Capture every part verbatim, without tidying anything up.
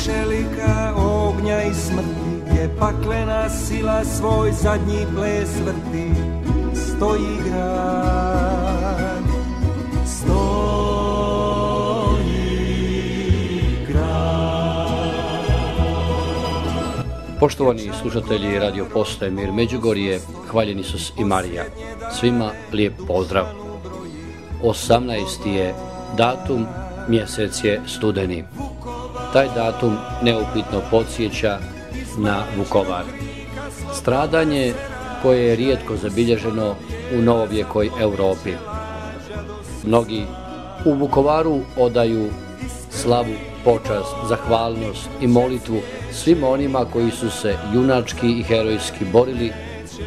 čelika ognja i smrti, gdje paklena sila svoj zadnji ples vrti. Stoji grad, stoji grad. Poštovani slušatelji Radio Postaje Mir Međugorje, hvaljen Isus i Marija. Svima lijep pozdrav. osamnaesti je datum, mjesec je studeni. Taj datum neupitno podsjeća na Vukovar. Stradanje koje je rijetko zabilježeno u novovjekoj Europi. Mnogi u Vukovaru odaju slavu, počast, zahvalnost i molitvu svima onima koji su se junački i herojski borili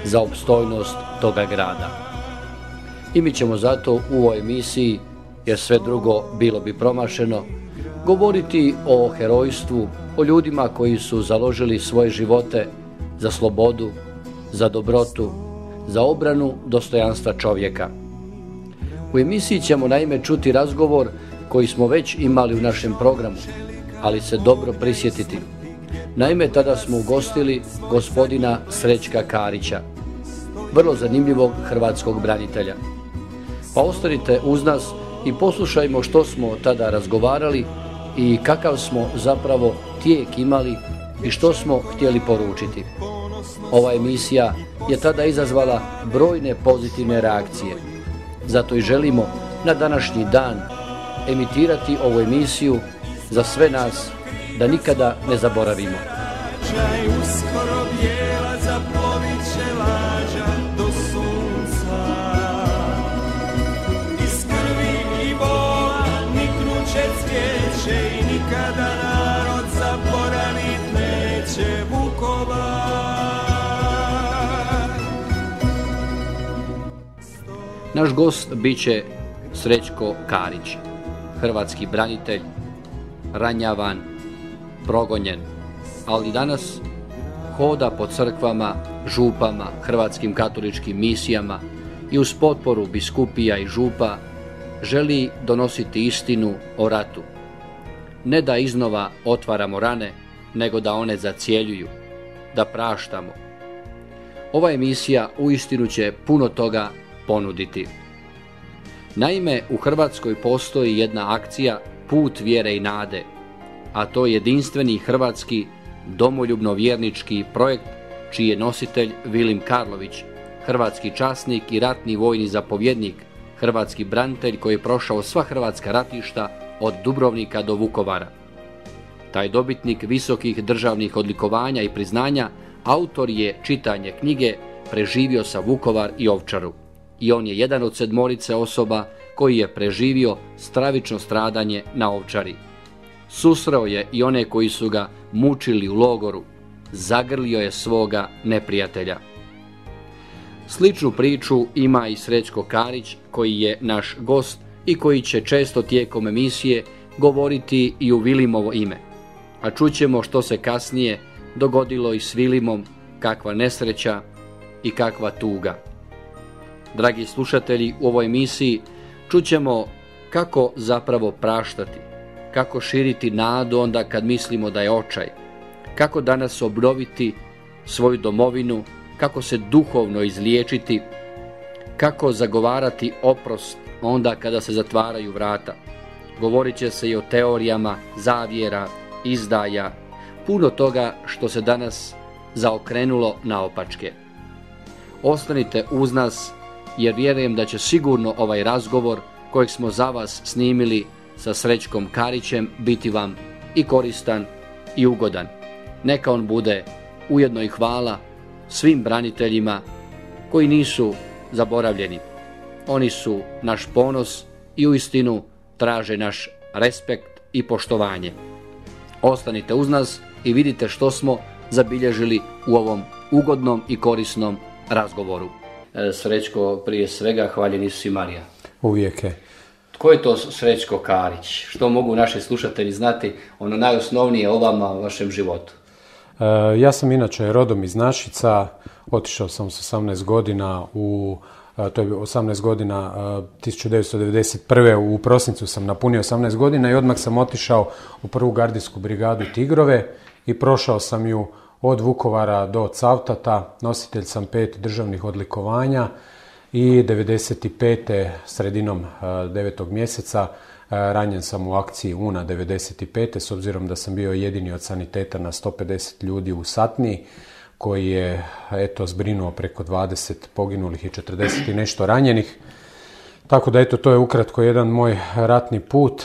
za opstojnost toga grada. I mi ćemo zato u ovoj emisiji, jer sve drugo bilo bi promašeno, govoriti o herojstvu, o ljudima koji su založili svoje živote za slobodu, za dobrotu, za obranu dostojanstva čovjeka. U emisiji ćemo naime čuti razgovor koji smo već imali u našem programu, ali se dobro prisjetiti. Naime, tada smo ugostili gospodina Srećka Karića, vrlo zanimljivog hrvatskog branitelja. Pa ostanite uz nas i poslušajmo što smo tada razgovarali i kakav smo zapravo tijek imali i što smo htjeli poručiti. Ova emisija je tada izazvala brojne pozitivne reakcije. Zato i želimo na današnji dan emitirati ovu emisiju za sve nas da nikada ne zaboravimo. Uskoro bijela zaplovit će lađa do sunca. Iz krvi i bola niknuće cvijeće i nikada narod zaboravit neće Vukovar. Naš gost bit će Srećko Karić, hrvatski branitelj, ranjavan, progonjen, ali danas hoda po crkvama, župama, hrvatskim katoličkim misijama i uz potporu biskupija i župa želi donositi istinu o ratu. Ne da iznova otvaramo rane, nego da one zacjeljuju, da praštamo. Ova emisija uistinu će puno toga ponuditi. Naime, u Hrvatskoj postoji jedna akcija Put vjere i nade, a to je jedinstveni hrvatski domoljubno-vjernički projekt čiji je nositelj Vilim Karlović, hrvatski časnik i ratni vojni zapovjednik, hrvatski branitelj koji je prošao sva hrvatska ratišta od Dubrovnika do Vukovara. Taj dobitnik visokih državnih odlikovanja i priznanja autor je čitanje knjige Preživio sa Vukovar i Ovčaru. I on je jedan od sedmorice osoba koji je preživio stravično stradanje na Ovčari. Susreo je i one koji su ga mučili u logoru, zagrlio je svoga neprijatelja. Sličnu priču ima i Srećko Karić koji je naš gost i koji će često tijekom emisije govoriti i u Vilimovo ime. A čućemo što se kasnije dogodilo i s Vilimom, kakva nesreća i kakva tuga. Dragi slušatelji, u ovoj emisiji čućemo kako zapravo praštati, kako širiti nadu onda kad mislimo da je očaj, kako danas obnoviti svoju domovinu, kako se duhovno izliječiti, kako zagovarati oprost onda kada se zatvaraju vrata. Govorit će se i o teorijama zavjera, izdaja, puno toga što se danas zaokrenulo naopačke. Ostanite uz nas jer vjerujem da će sigurno ovaj razgovor kojeg smo za vas snimili sa Srećkom Karićem biti vam i koristan i ugodan. Neka on bude ujedno i hvala svim braniteljima koji nisu zaboravljeni. Oni su naš ponos i uistinu traže naš respekt i poštovanje. Ostanite uz nas i vidite što smo zabilježili u ovom ugodnom i korisnom razgovoru. Srećko, prije svega hvaljen Isus i Marija. Uvijek je. Tko je to Srećko Karić? Što mogu naši slušatelji znati ono najosnovnije o vama, o vašem životu? E, ja sam inače rodom iz Našica, otišao sam s osamnaest godina u to je osamnaest godina, tisuću devetsto devedeset prve u prosincu sam napunio osamnaest godina i odmah sam otišao u prvu gardijsku brigadu Tigrove i prošao sam ju od Vukovara do Cavtata, nositelj sam pet državnih odlikovanja i devedeset pete sredinom devetog mjeseca ranjen sam u akciji Una devedeset pete s obzirom da sam bio jedini od saniteta na sto pedeset ljudi u satniji koji je eto zbrinuo preko dvadeset poginulih i četrdeset i nešto ranjenih. Tako da eto to je ukratko jedan moj ratni put e,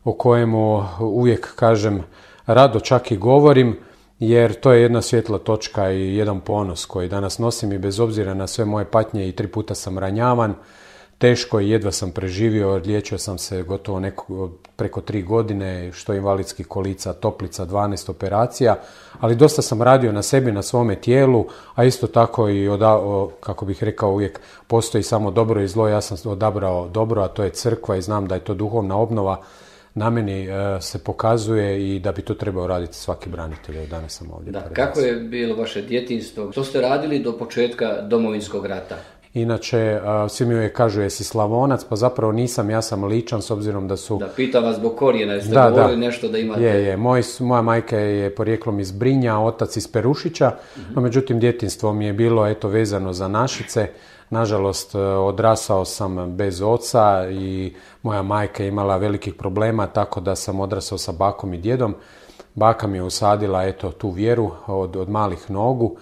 o kojemu uvijek kažem rado čak i govorim, jer to je jedna svjetla točka i jedan ponos koji danas nosim i bez obzira na sve moje patnje i tri puta sam ranjavan, teško i jedva sam preživio, liječio sam se gotovo neko, preko tri godine, što invalidskih kolica, toplica, dvanaest operacija, ali dosta sam radio na sebi, na svome tijelu, a isto tako i, oda, o, kako bih rekao uvijek, postoji samo dobro i zlo, ja sam odabrao dobro, a to je crkva i znam da je to duhovna obnova, na meni e, se pokazuje i da bi to trebao raditi svaki branitelj. Danas sam ovdje. Da, kako je bilo vaše djetinjstvo? Što ste radili do početka Domovinskog rata? Inače, svi mi uvijek kažu jesi Slavonac, pa zapravo nisam, ja sam Ličan s obzirom da su... Da, pitam vas zbog korijena, jeste da, govorili da. Nešto da imate... Je, je, Moj, moja majka je porijeklom iz Brinja, otac iz Perušića, uh-huh. no međutim djetinjstvo mi je bilo eto vezano za Našice. Nažalost, odrasao sam bez oca i moja majka je imala velikih problema, tako da sam odrasao sa bakom i djedom. Baka mi je usadila eto tu vjeru od, od malih nogu.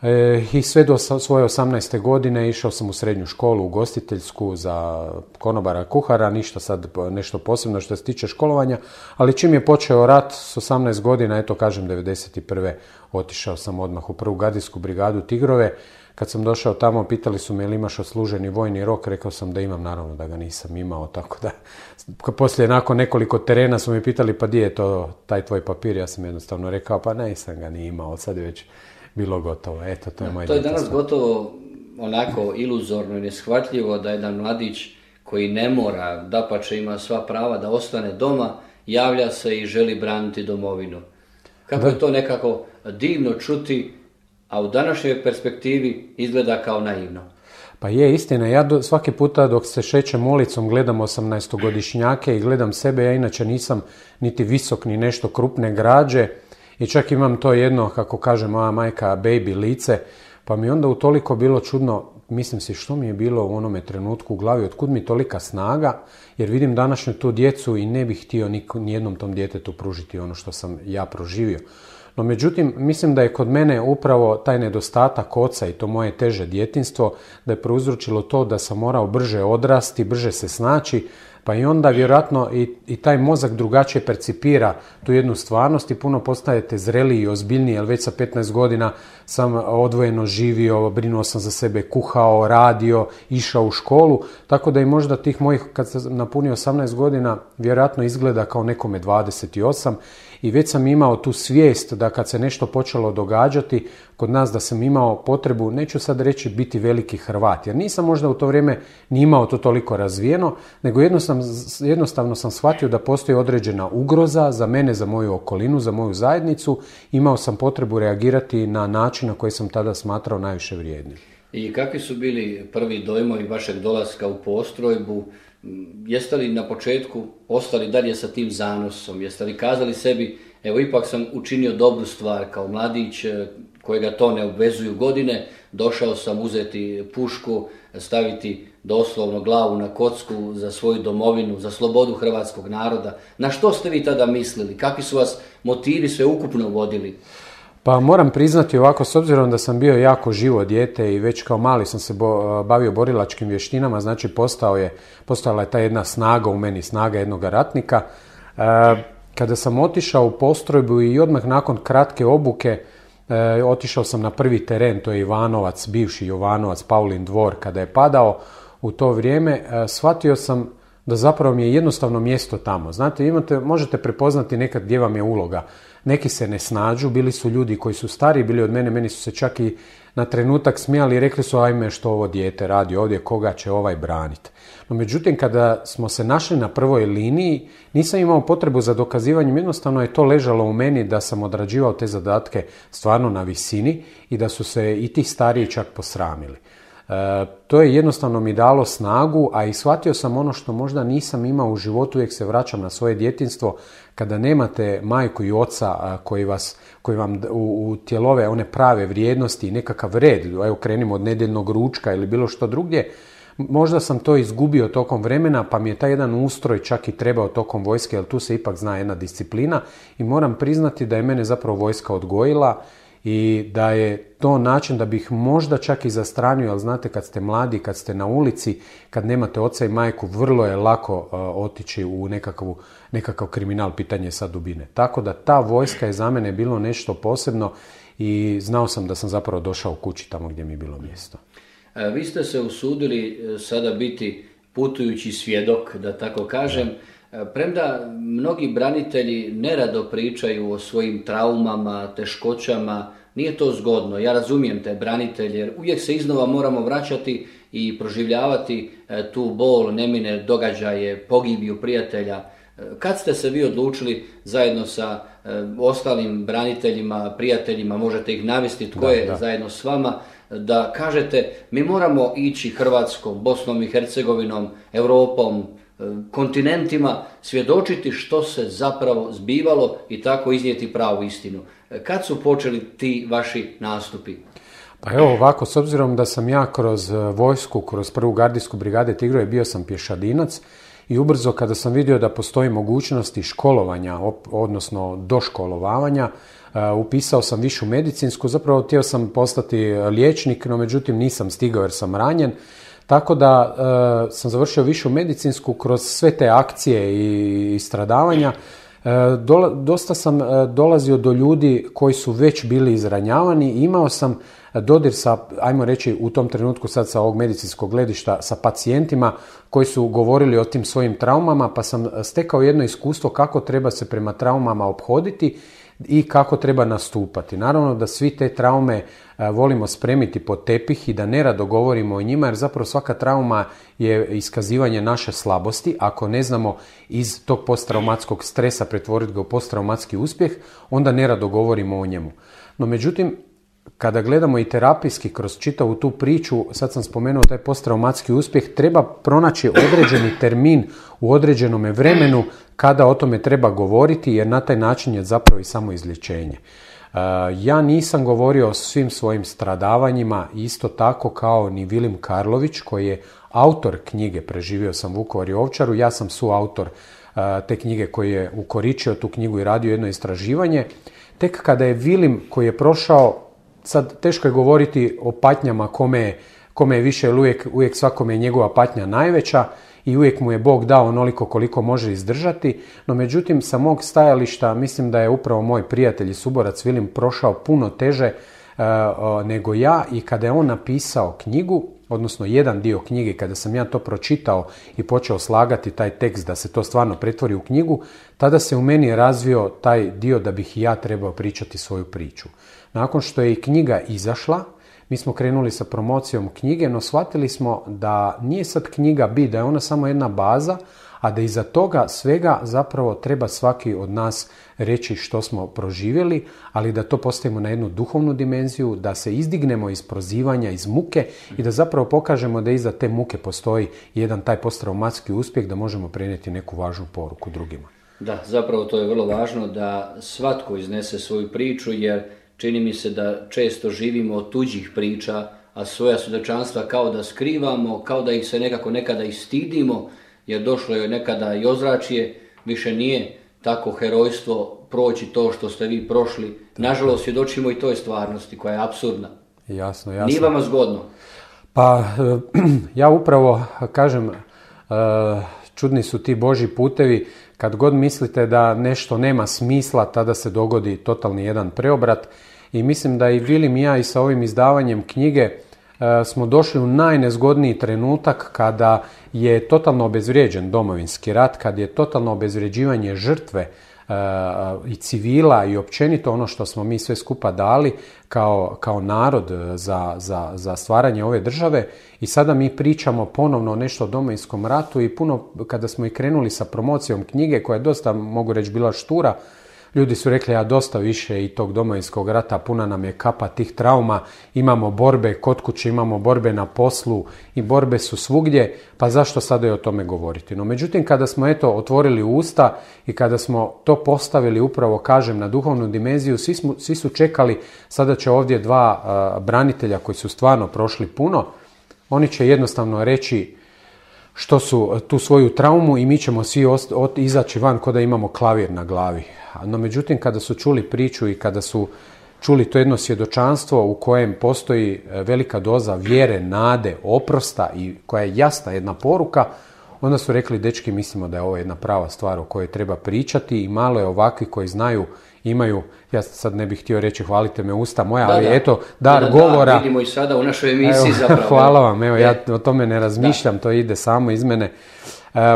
E, I sve do svoje osamnaeste godine išao sam u srednju školu, ugostiteljsku za konobara, kuhara, ništa sad nešto posebno što se tiče školovanja, ali čim je počeo rat s osamnaest godina, eto kažem devedeset prve otišao sam odmah u prvu gardijsku brigadu Tigrove. Kad sam došao tamo, pitali su me ili imaš odsluženi vojni rok, rekao sam da imam, naravno da ga nisam imao, tako da poslije nakon nekoliko terena su me pitali pa di je to taj tvoj papir, ja sam jednostavno rekao pa nisam ga ni imao, sad je već bilo gotovo. Eto, to je moje To je danas gotovo onako iluzorno i neshvatljivo da jedan mladić koji ne mora, dapače ima sva prava da ostane doma, javlja se i želi braniti domovinu. Kako da. Je to nekako divno čuti, a u današnjoj perspektivi izgleda kao naivno. Pa je istina, ja do, svaki puta dok se šećem ulicom gledam osamnaestogodišnjake i gledam sebe, ja inače nisam niti visok ni nešto krupne građe, i čak imam to jedno, kako kaže moja majka, baby lice, pa mi onda utoliko bilo čudno, mislim si što mi je bilo u onome trenutku u glavi, otkud mi tolika snaga, jer vidim današnju tu djecu i ne bih htio nijednom tom djetetu pružiti ono što sam ja proživio. No međutim, mislim da je kod mene upravo taj nedostatak oca i to moje teže djetinjstvo, da je prouzročilo to da sam morao brže odrasti, brže se snaći, pa i onda vjerojatno i, i taj mozak drugačije percipira tu jednu stvarnost i puno postajete zreliji i ozbiljniji, jer već sa petnaest godina sam odvojeno živio, brinuo sam za sebe, kuhao, radio, išao u školu, tako da i možda tih mojih, kad sam napunio osamnaest godina, vjerojatno izgleda kao nekome dvadeset osam i već sam imao tu svijest da kad se nešto počelo događati kod nas, da sam imao potrebu, neću sad reći biti veliki Hrvat, jer nisam možda u to vrijeme ni imao to toliko razvijeno, nego jednostavno, jednostavno sam shvatio da postoji određena ugroza za mene, za moju okolinu, za moju zajednicu. Imao sam potrebu reagirati na način na koji sam tada smatrao najviše vrijednim. I kakvi su bili prvi dojmovi vašeg dolaska u postrojbu? Jeste li na početku ostali dalje sa tim zanosom? Jeste li kazali sebi, evo ipak sam učinio dobru stvar kao mladić kojega to ne obvezuju godine, došao sam uzeti pušku, staviti doslovno glavu na kocku za svoju domovinu, za slobodu hrvatskog naroda. Na što ste vi tada mislili? Kakvi su vas motivi sve ukupno vodili? Pa moram priznati ovako, s obzirom da sam bio jako živo dijete i već kao mali sam se bo, bavio borilačkim vještinama, znači postao je, postojala je ta jedna snaga u meni, snaga jednoga ratnika. E, kada sam otišao u postrojbu i odmah nakon kratke obuke, e, otišao sam na prvi teren, to je Ivanovac, bivši Jovanovac, Paulin dvor, kada je padao u to vrijeme, e, shvatio sam da zapravo mi je jednostavno mjesto tamo. Znate, imate, možete prepoznati nekad gdje vam je uloga. Neki se ne snađu, bili su ljudi koji su stariji, bili od mene, meni su se čak i na trenutak smijali i rekli su ajme što ovo dijete radi ovdje, koga će ovaj braniti. No međutim, kada smo se našli na prvoj liniji, nisam imao potrebu za dokazivanjem, jednostavno je to ležalo u meni da sam odrađivao te zadatke stvarno na visini i da su se i ti stariji čak posramili. to je jednostavno mi dalo snagu, a i shvatio sam ono što možda nisam imao u životu, uvijek se vraćam na svoje djetinjstvo, kada nemate majku i oca koji, vas, koji vam utjelove one prave vrijednosti i nekakav red, evo krenimo od nedjeljnog ručka ili bilo što drugdje, možda sam to izgubio tokom vremena, pa mi je taj jedan ustroj čak i trebao tokom vojske, jer tu se ipak zna jedna disciplina i moram priznati da je mene zapravo vojska odgojila i da je to način da bih možda čak i zastranio, ali znate kad ste mladi, kad ste na ulici, kad nemate oca i majku, vrlo je lako uh, otići u nekakav, nekakav kriminal, pitanje sad dubine. Tako da ta vojska je za mene bilo nešto posebno i znao sam da sam zapravo došao kući tamo gdje mi je bilo mjesto. Vi ste se usudili sada biti putujući svjedok, da tako kažem, premda mnogi branitelji nerado pričaju o svojim traumama, teškoćama, nije to zgodno. Ja razumijem te branitelje, jer uvijek se iznova moramo vraćati i proživljavati tu bol, nemine događaje, pogibiju prijatelja. Kad ste se vi odlučili zajedno sa ostalim braniteljima, prijateljima, možete ih navesti tko da, je da. zajedno s vama, da kažete mi moramo ići Hrvatskom, Bosnom i Hercegovinom, Europom, kontinentima, svjedočiti što se zapravo zbivalo i tako iznijeti pravu istinu. Kad su počeli ti vaši nastupi? Pa evo ovako, s obzirom da sam ja kroz vojsku, kroz prvu gardijsku brigade Tigroje bio sam pješadinac i ubrzo kada sam vidio da postoji mogućnosti školovanja, odnosno doškolovavanja, upisao sam višu medicinsku, zapravo htio sam postati liječnik, no međutim nisam stigao jer sam ranjen, tako da e, sam završio višu medicinsku kroz sve te akcije i, i stradavanja. E, dola, dosta sam e, dolazio do ljudi koji su već bili izranjavani i imao sam dodir sa, ajmo reći u tom trenutku sad sa ovog medicinskog gledišta, sa pacijentima koji su govorili o tim svojim traumama, pa sam stekao jedno iskustvo kako treba se prema traumama ophoditi i kako treba nastupati. Naravno da svi te traume e, volimo spremiti pod tepih i da nerado govorimo o njima, jer zapravo svaka trauma je iskazivanje naše slabosti. Ako ne znamo iz tog posttraumatskog stresa pretvoriti ga u posttraumatski uspjeh, onda nerado govorimo o njemu. No međutim, kada gledamo i terapijski kroz čitavu tu priču, sad sam spomenuo taj posttraumatski uspjeh, treba pronaći određeni termin u određenome vremenu kada o tome treba govoriti, jer na taj način je zapravo i samo izlječenje. Ja nisam govorio o svim svojim stradavanjima, isto tako kao ni Vilim Karlović, koji je autor knjige Preživio sam Vukovar i Ovčaru. Ja sam suautor te knjige koji je ukoričio tu knjigu i radio jedno istraživanje. Tek kada je Vilim, koji je prošao, sad teško je govoriti o patnjama kome je, kome je više, ili uvijek, uvijek svakome je njegova patnja najveća i uvijek mu je Bog dao onoliko koliko može izdržati, no međutim sa mog stajališta mislim da je upravo moj prijatelj i suborac Vilim prošao puno teže uh, uh, nego ja, i kada je on napisao knjigu, odnosno jedan dio knjige, kada sam ja to pročitao i počeo slagati taj tekst da se to stvarno pretvori u knjigu, tada se u meni razvio taj dio da bih i ja trebao pričati svoju priču. Nakon što je i knjiga izašla, mi smo krenuli sa promocijom knjige, no shvatili smo da nije sad knjiga bit, da je ona samo jedna baza, a da iza toga svega zapravo treba svaki od nas reći što smo proživjeli, ali da to postavimo na jednu duhovnu dimenziju, da se izdignemo iz prozivanja, iz muke i da zapravo pokažemo da iza te muke postoji jedan taj posttraumatski uspjeh, da možemo prenijeti neku važnu poruku drugima. Da, zapravo to je vrlo važno da svatko iznese svoju priču, jer čini mi se da često živimo od tuđih priča, a svoja svjedočanstva kao da skrivamo, kao da ih se nekako nekada i stidimo, jer došlo je nekada i ozračje, više nije tako herojstvo proći to što ste vi prošli. Nažalost, svjedočimo i toj stvarnosti koja je apsurdna. Jasno, jasno. Nije vama zgodno? Pa, ja upravo kažem, čudni su ti Božji putevi. Kad god mislite da nešto nema smisla, tada se dogodi totalni jedan preobrat. I mislim da i Vilim i ja i sa ovim izdavanjem knjige smo došli u najnezgodniji trenutak kada je totalno obezvrijeđen Domovinski rat, kad je totalno obezvrijeđivanje žrtve i civila i općenito ono što smo mi sve skupa dali kao, kao narod za, za, za stvaranje ove države, i sada mi pričamo ponovno nešto o Domovinskom ratu i puno kada smo i krenuli sa promocijom knjige koja je dosta, mogu reći, bila štura, Ljudi su rekli, ja dosta više i tog Domovinskog rata, puna nam je kapa tih trauma, imamo borbe kod kuće, imamo borbe na poslu i borbe su svugdje, pa zašto sada i o tome govoriti? No međutim, kada smo eto otvorili usta i kada smo to postavili upravo, kažem, na duhovnu dimenziju, svi, smo, svi su čekali, sada će ovdje dva uh, branitelja koji su stvarno prošli puno, oni će jednostavno reći što su tu svoju traumu i mi ćemo svi ost- ot- izaći van kao da imamo klavir na glavi. No međutim, kada su čuli priču i kada su čuli to jedno svjedočanstvo u kojem postoji velika doza vjere, nade, oprosta i koja je jasna jedna poruka, onda su rekli, dečki, mislimo da je ovo jedna prava stvar o kojoj treba pričati i malo je ovakvi koji znaju, imaju, ja sad ne bih htio reći hvalite me usta moja, da, ali da. eto, dar da, govora. Da, vidimo i sada u našoj emisiji evo, zapravo. Hvala vam, evo, e. ja o tome ne razmišljam, da. To ide samo iz mene.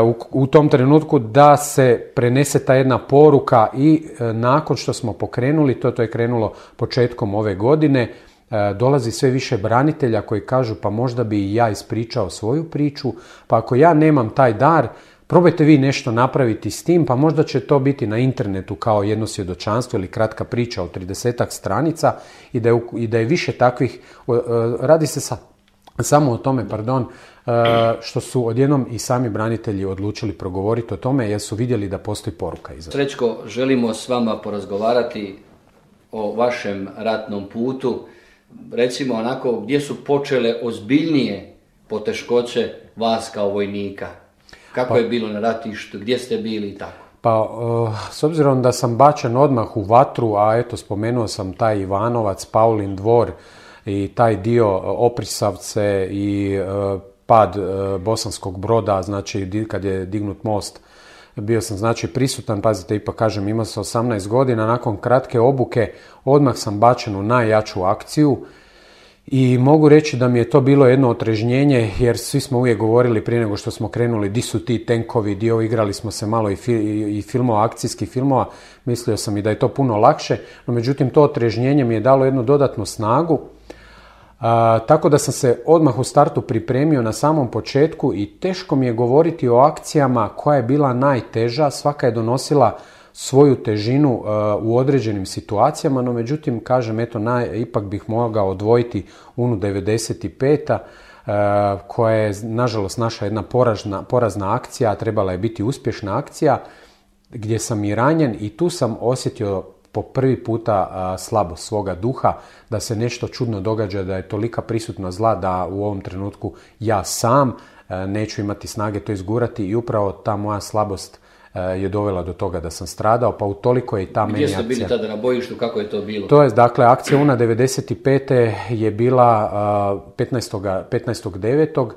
U, u tom trenutku da se prenese ta jedna poruka i e, nakon što smo pokrenuli, to, to je krenulo početkom ove godine, e, dolazi sve više branitelja koji kažu pa možda bi i ja ispričao svoju priču, pa ako ja nemam taj dar, probajte vi nešto napraviti s tim, pa možda će to biti na internetu kao jedno svjedočanstvo ili kratka priča od tridesetak stranica i da je, i da je više takvih, e, radi se sa, samo o tome, pardon, što su odjednom i sami branitelji odlučili progovoriti o tome jer su vidjeli da postoji poruka iza. Srećko, želimo s vama porazgovarati o vašem ratnom putu. Recimo onako, gdje su počele ozbiljnije poteškoće vas kao vojnika? Kako pa, je bilo na ratištu, gdje ste bili i tako? Pa, uh, s obzirom da sam bačen odmah u vatru, a eto spomenuo sam taj Ivanovac, Paulin dvor i taj dio Oprisavce i uh, pad uh, Bosanskog Broda, znači kad je dignut most, bio sam znači prisutan, pazite, ipak kažem, imao sam osamnaest godina, nakon kratke obuke odmah sam bačen u najjaču akciju i mogu reći da mi je to bilo jedno otrežnjenje, jer svi smo uvijek govorili prije nego što smo krenuli di su ti tenkovi, dio igrali smo se malo i, fi, i filmova, akcijskih filmova, mislio sam i da je to puno lakše, no međutim to otrežnjenje mi je dalo jednu dodatnu snagu. A, tako da sam se odmah u startu pripremio na samom početku i teško mi je govoriti o akcijama koja je bila najteža, svaka je donosila svoju težinu uh, u određenim situacijama, no međutim, kažem, eto, naj, ipak bih mogao odvojiti U N U devedeset pet uh, koja je, nažalost, naša jedna porazna, porazna akcija, a trebala je biti uspješna akcija, gdje sam i ranjen i tu sam osjetio po prvi puta a, slabost svoga duha, da se nešto čudno događa, da je tolika prisutna zla da u ovom trenutku ja sam a, neću imati snage to izgurati i upravo ta moja slabost a, je dovela do toga da sam stradao, pa utoliko je i ta meni akcija. Gdje ste bili tada na bojištu, kako je to bilo? To je, dakle, akcija U N A devedeset pet je bila a, petnaestog devetog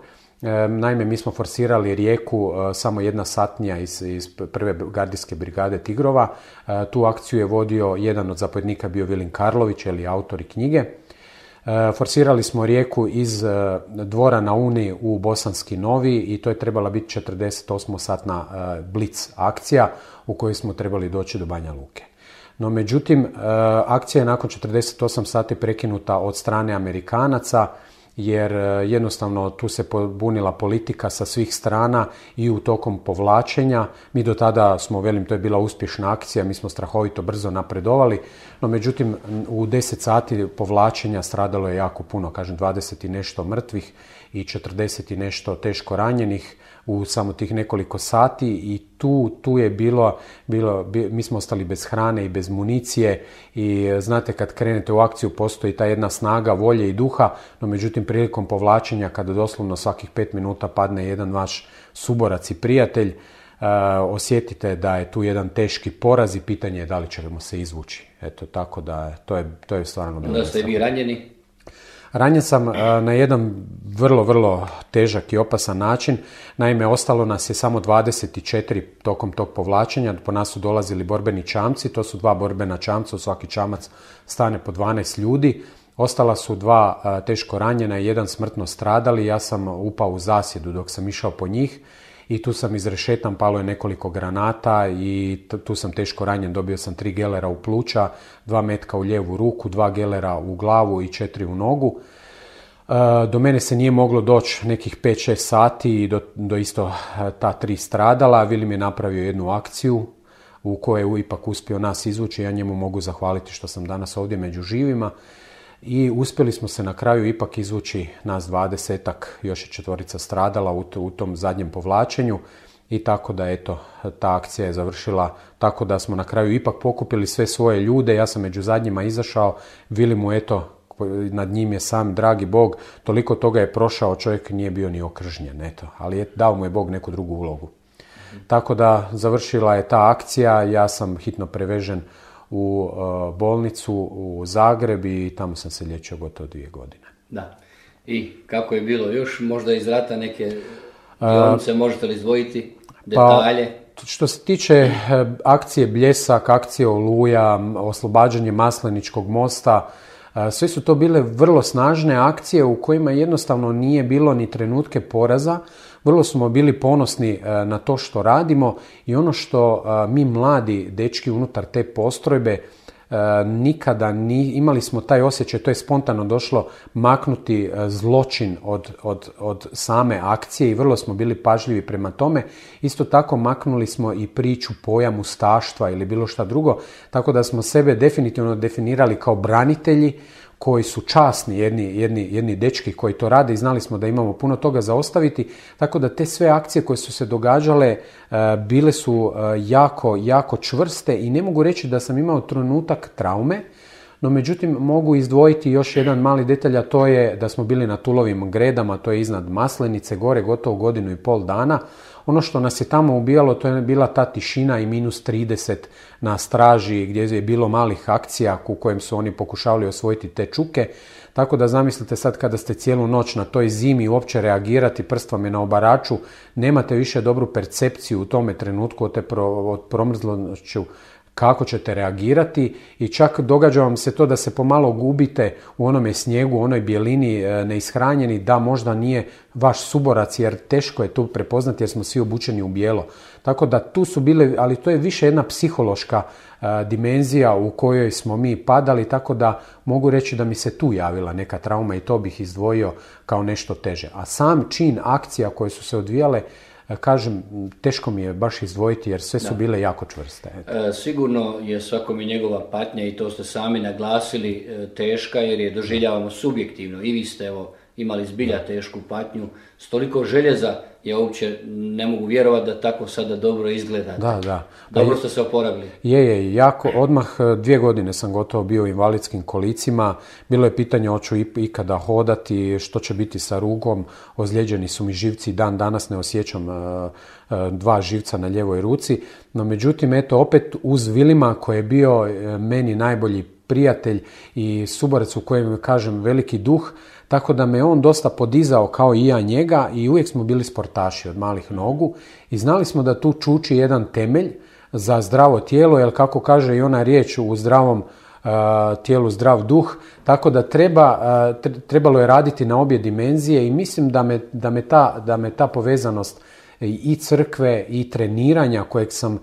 Naime, mi smo forsirali Rijeku, samo jedna satnija iz, iz prve gardijske brigade Tigrova. Tu akciju je vodio jedan od zapovjednika, bio Vilin Karlović, ili autor i knjige. Forsirali smo Rijeku iz dvora na Uni u Bosanski Novi i to je trebala biti četrdeset osam satna blic akcija u kojoj smo trebali doći do Banja Luke. No, međutim, akcija je nakon četrdeset osam sati prekinuta od strane Amerikanaca, jer jednostavno tu se pobunila politika sa svih strana i u tokom povlačenja. Mi do tada smo, velim, to je bila uspješna akcija, mi smo strahovito brzo napredovali, no međutim u deset sati povlačenja stradalo je jako puno, kažem dvadeset i nešto mrtvih i četrdeset i nešto teško ranjenih u samo tih nekoliko sati i tu, tu je bilo, bilo, mi smo ostali bez hrane i bez municije i znate kad krenete u akciju postoji ta jedna snaga, volje i duha, no međutim prilikom povlačenja kada doslovno svakih pet minuta padne jedan vaš suborac i prijatelj, uh, osjetite da je tu jedan teški poraz i pitanje je da li ćemo se izvući. Eto, tako da to je, to je stvarno bilo. Da ste vi ranjeni? Ranjen sam na jedan vrlo, vrlo težak i opasan način. Naime, ostalo nas je samo dvadeset četiri tokom tog povlačenja. Po nas su dolazili borbeni čamci, to su dva borbena čamca, u svaki čamac stane po dvanaest ljudi. Ostala su dva teško ranjena i jedan smrtno stradali. Ja sam upao u zasjedu dok sam išao po njih i tu sam izrešetan, palo je nekoliko granata i tu sam teško ranjen, dobio sam tri gelera u pluća, dva metka u lijevu ruku, dva gelera u glavu i četiri u nogu. Do mene se nije moglo doći nekih pet šest sati i do, do isto ta tri stradala. Vilim je napravio jednu akciju u koje je ipak uspio nas izvući. Ja njemu mogu zahvaliti što sam danas ovdje među živima. I uspjeli smo se na kraju ipak izvući nas dvadesetak, još je četvorica stradala u, u tom zadnjem povlačenju. I tako da, eto, ta akcija je završila tako da smo na kraju ipak pokupili sve svoje ljude. Ja sam među zadnjima izašao, Vili mu, eto, nad njim je sam dragi Bog, toliko toga je prošao, čovjek nije bio ni okržnjen, eto, ali je, dao mu je Bog neku drugu ulogu. Tako da završila je ta akcija, ja sam hitno prevežen u uh, bolnicu u Zagreb i tamo sam se liječio gotovo dvije godine. Da. I kako je bilo još možda iz rata neke dionice, uh, možete li izdvojiti detalje? Pa, što se tiče akcije Bljesak, akcije Oluja, oslobađanje Masleničkog mosta, sve su to bile vrlo snažne akcije u kojima jednostavno nije bilo ni trenutke poraza. Vrlo smo bili ponosni na to što radimo i ono što mi mladi dečki unutar te postrojbe nikada ni, imali smo taj osjećaj, to je spontano došlo, maknuti zločin od, od, od same akcije i vrlo smo bili pažljivi prema tome. Isto tako maknuli smo i priču, pojam ustaštva ili bilo šta drugo, tako da smo sebe definitivno definirali kao branitelji koji su časni, jedni, jedni, jedni dečki koji to rade i znali smo da imamo puno toga za ostaviti, tako da te sve akcije koje su se događale bile su jako, jako čvrste i ne mogu reći da sam imao trenutak traume, no međutim mogu izdvojiti još jedan mali detalj, a to je da smo bili na Tulovim Gredama, to je iznad Maslenice, gore gotovo godinu i pol dana. Ono što nas je tamo ubijalo, to je bila ta tišina i minus trideset na straži gdje je bilo malih akcija u kojem su oni pokušavali osvojiti te čuke. Tako da zamislite sad kada ste cijelu noć na toj zimi uopće reagirati, prst vam je na obaraču, nemate više dobru percepciju u tome trenutku od, te pro, od promrzlošću kako ćete reagirati i čak događa vam se to da se pomalo gubite u onome snijegu, u onoj bijelini neishranjeni, da možda nije vaš suborac jer teško je tu prepoznati jer smo svi obučeni u bijelo. Tako da tu su bile, ali to je više jedna psihološka a, dimenzija u kojoj smo mi padali, tako da mogu reći da mi se tu javila neka trauma i to bih izdvojio kao nešto teže. A sam čin akcija koje su se odvijale, kažem, teško mi je baš izdvojiti jer sve su bile jako čvrste. E, sigurno je svakom i njegova patnja i to ste sami naglasili e, teška jer je doživljavamo subjektivno. I vi ste evo, imali zbilja tešku patnju. S toliko željeza ja uopće ne mogu vjerovati da tako sada dobro izgledate. Da, da. Dobro ste se oporavili. Je, je, jako. Odmah dvije godine sam gotovo bio u invalidskim kolicima. Bilo je pitanje hoću ikada hodati, što će biti sa rugom. Ozlijeđeni su mi živci, dan danas ne osjećam uh, uh, dva živca na ljevoj ruci. No međutim, eto, opet uz Vilima koji je bio uh, meni najbolji prijatelj i suborac u kojem kažem veliki duh, tako da me on dosta podizao kao i ja njega i uvijek smo bili sportaši od malih nogu i znali smo da tu čuči jedan temelj za zdravo tijelo, jer kako kaže i ona riječ u zdravom uh, tijelu zdrav duh, tako da treba, uh, trebalo je raditi na obje dimenzije i mislim da me, da me, ta, da me ta povezanost i crkve i treniranja kojeg sam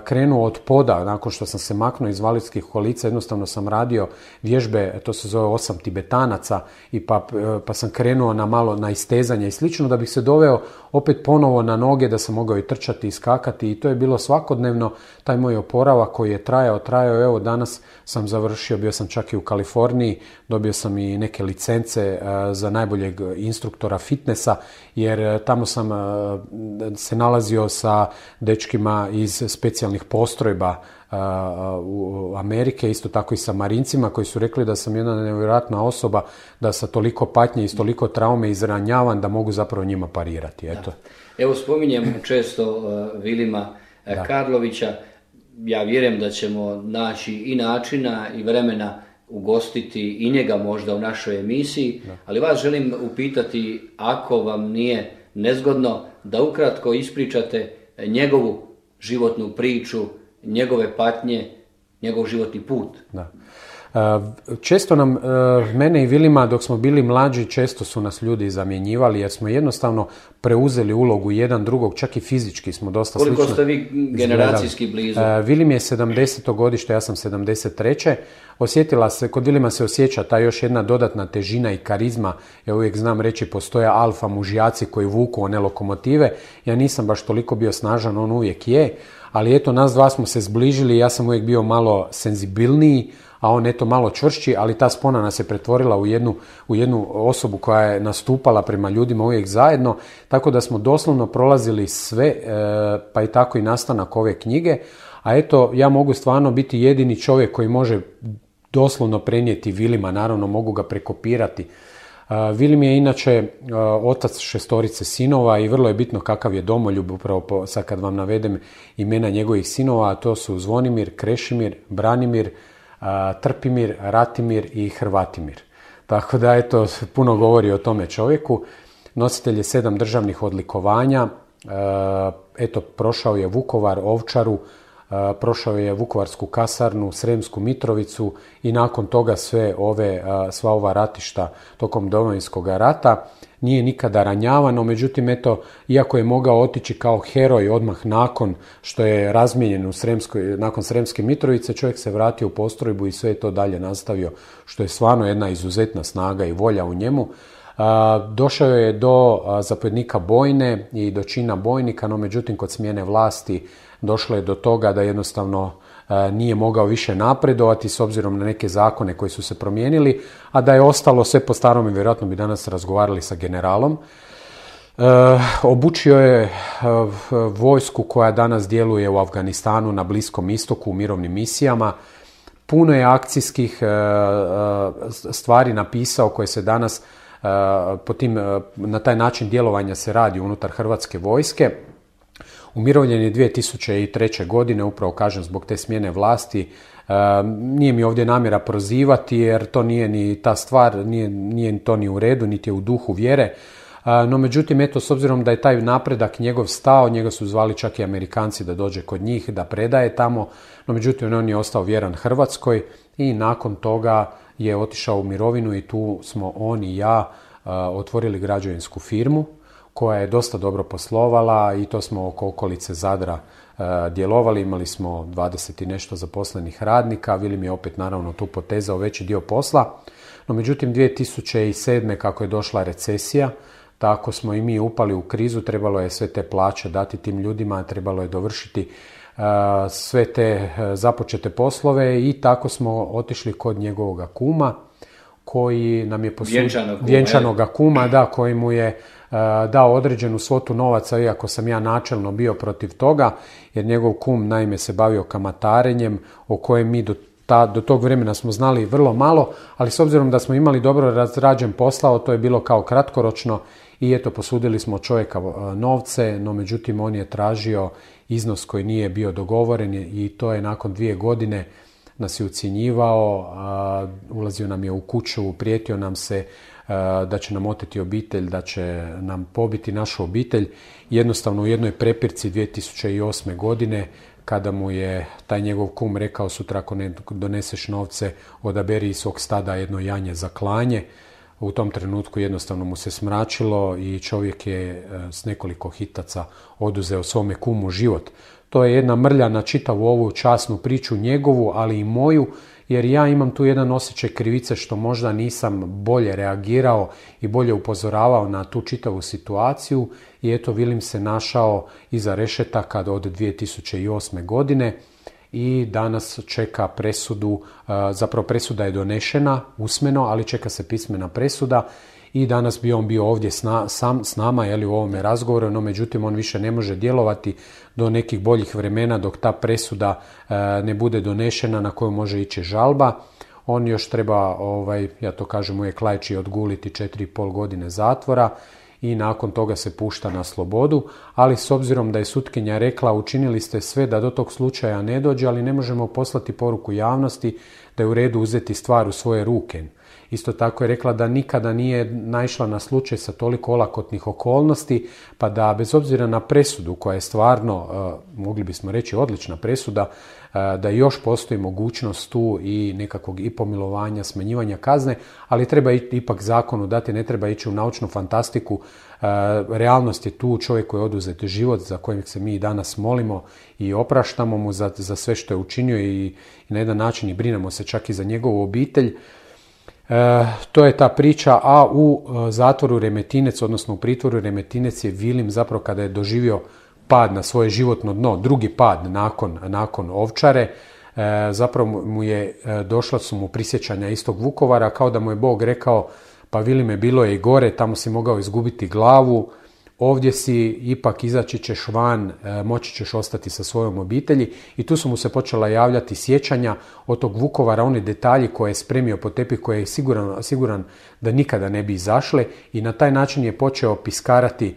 krenuo od poda, nakon što sam se maknuo iz invalidskih kolica, jednostavno sam radio vježbe, to se zove osam tibetanaca, i pa, pa sam krenuo na malo na istezanje i slično, da bih se doveo opet ponovo na noge, da sam mogao i trčati i skakati, i to je bilo svakodnevno, taj moj oporavak koji je trajao, trajao, evo danas sam završio, bio sam čak i u Kaliforniji, dobio sam i neke licence za najboljeg instruktora fitnessa, jer tamo sam se nalazio sa dečkima iz specijalnih postrojba u Amerike, isto tako i sa marincima koji su rekli da sam jedna nevjerojatna osoba, da sa toliko patnje i s toliko traume izranjavan da mogu zapravo njima parirati. Eto, Evo spominjem često uh, Vilima uh, Karlovića, ja vjerujem da ćemo naći i načina i vremena ugostiti i njega možda u našoj emisiji, da. Ali vas želim upitati, ako vam nije nezgodno, da ukratko ispričate njegovu životnu priču, njegove patnje, njegov životni put. Da. Često nam, mene i Vilima, dok smo bili mlađi, često su nas ljudi zamjenjivali jer smo jednostavno preuzeli ulogu jedan drugog, čak i fizički smo dosta slično. Koliko ste vi generacijski blizu? Vilim je sedamdeseto godište, ja sam sedamdeset treće Osjetila se, kod Vilima se osjeća ta još jedna dodatna težina i karizma. Ja uvijek znam reći, postoje alfa mužjaci koji vuku one lokomotive. Ja nisam baš toliko bio snažan, on uvijek je. Ali eto, nas dva smo se zbližili, ja sam uvijek bio malo senzibilniji, a on eto malo čvršći, ali ta spona nas je pretvorila u jednu, u jednu osobu koja je nastupala prema ljudima uvijek zajedno, tako da smo doslovno prolazili sve, pa i tako i nastanak ove knjige. A eto, ja mogu stvarno biti jedini čovjek koji može doslovno prenijeti Vilima, naravno mogu ga prekopirati. Vilim je inače otac šestorice sinova i vrlo je bitno kakav je domoljub, upravo po, sad kad vam navedem imena njegovih sinova, a to su Zvonimir, Krešimir, Branimir, Trpimir, Ratimir i Hrvatimir. Tako da, eto, puno govori o tome čovjeku. Nositelj je sedam državnih odlikovanja, eto, prošao je Vukovar, Ovčaru, prošao je Vukovarsku kasarnu, Sremsku Mitrovicu i nakon toga sve ove, sva ova ratišta tokom Domovinskog rata. Nije nikada ranjavano, međutim, eto, iako je mogao otići kao heroj odmah nakon što je razmijenjen u Sremskoj, nakon Sremske Mitrovice, čovjek se vratio u postrojbu i sve je to dalje nastavio, što je stvarno jedna izuzetna snaga i volja u njemu. Došao je do zapovjednika bojne i do čina bojnika, no međutim kod smjene vlasti došlo je do toga da jednostavno nije mogao više napredovati s obzirom na neke zakone koji su se promijenili, a da je ostalo sve po starom i vjerojatno bi danas razgovarali sa generalom. E, obučio je e, vojsku koja danas djeluje u Afganistanu, na Bliskom istoku, u mirovnim misijama. Puno je akcijskih e, stvari napisao koje se danas e, po tim, e, na taj način djelovanja se radi unutar Hrvatske vojske. Umirovljen je dvije tisuće treće. godine, upravo kažem zbog te smjene vlasti. E, nije mi ovdje namjera prozivati jer to nije ni ta stvar, nije, nije to ni u redu, niti je u duhu vjere. E, no međutim, eto, s obzirom da je taj napredak njegov stao, njega su zvali čak i Amerikanci da dođe kod njih, da predaje tamo, no međutim on je ostao vjeran Hrvatskoj i nakon toga je otišao u mirovinu i tu smo on i ja e, otvorili građevinsku firmu koja je dosta dobro poslovala i to smo oko okolice Zadra e, djelovali. Imali smo dvadeset i nešto zaposlenih radnika. Vilim je opet naravno tu potezao veći dio posla. No međutim dvije tisuće sedme. kako je došla recesija, tako smo i mi upali u krizu. Trebalo je sve te plaće dati tim ljudima, trebalo je dovršiti e, sve te e, započete poslove i tako smo otišli kod njegovog kuma koji nam je posudio Vjenčanog kuma, vjenčanoga kuma, da, koji mu je dao određenu svotu novaca, iako sam ja načelno bio protiv toga, jer njegov kum naime se bavio kamatarenjem, o kojem mi do, ta, do tog vremena smo znali vrlo malo, ali s obzirom da smo imali dobro razrađen posao, to je bilo kao kratkoročno i eto, posudili smo čovjeka novce, no međutim on je tražio iznos koji nije bio dogovoren i to je nakon dvije godine nas je ucjenjivao, ulazio nam je u kuću, prijetio nam se da će nam oteti obitelj, da će nam pobiti našu obitelj. Jednostavno u jednoj prepirci dvije tisuće osme. godine, kada mu je taj njegov kum rekao sutra ako ne doneseš novce, odaberi iz svog stada jedno janje za klanje. U tom trenutku jednostavno mu se smračilo i čovjek je s nekoliko hitaca oduzeo svome kumu život. To je jedna mrlja na čitavu ovu časnu priču njegovu, ali i moju, jer ja imam tu jedan osjećaj krivice što možda nisam bolje reagirao i bolje upozoravao na tu čitavu situaciju i eto, Vilim se našao iza rešetaka od dvije tisuće osme. godine i danas čeka presudu, zapravo presuda je donešena usmeno, ali čeka se pismena presuda i danas bi on bio ovdje s, na, sam, s nama jeli, u ovome razgovoru, no međutim on više ne može djelovati do nekih boljih vremena dok ta presuda e, ne bude donešena na koju može ići žalba. On još treba, ovaj, ja to kažem uvijek laički, odguliti četiri i pol godine zatvora i nakon toga se pušta na slobodu, ali s obzirom da je sutkinja rekla učinili ste sve da do tog slučaja ne dođe, ali ne možemo poslati poruku javnosti da je u redu uzeti stvar u svoje ruke. Isto tako je rekla da nikada nije naišla na slučaj sa toliko olakotnih okolnosti, pa da bez obzira na presudu koja je stvarno, mogli bismo reći, odlična presuda, da još postoji mogućnost tu i nekakvog i pomilovanja, smanjivanja kazne, ali treba ipak zakonu dati, ne treba ići u naučnu fantastiku. Realnost je tu, čovjek koji je oduzet život, za kojeg se mi danas molimo i opraštamo mu za, za sve što je učinio i, i na jedan način i brinemo se čak i za njegovu obitelj. E, to je ta priča, a u zatvoru Remetinec, odnosno u pritvoru Remetinec je Vilim zapravo kada je doživio pad na svoje životno dno, drugi pad nakon, nakon Ovčare, e, zapravo mu je, došla su mu prisjećanja istog Vukovara, kao da mu je Bog rekao, pa Vilime, bilo je i gore, tamo si mogao izgubiti glavu, ovdje si, ipak izaći ćeš van, moći ćeš ostati sa svojom obitelji. I tu su mu se počela javljati sjećanja od tog Vukovara, one detalji koje je spremio po tepih, koje je siguran, siguran da nikada ne bi izašle, i na taj način je počeo piskarati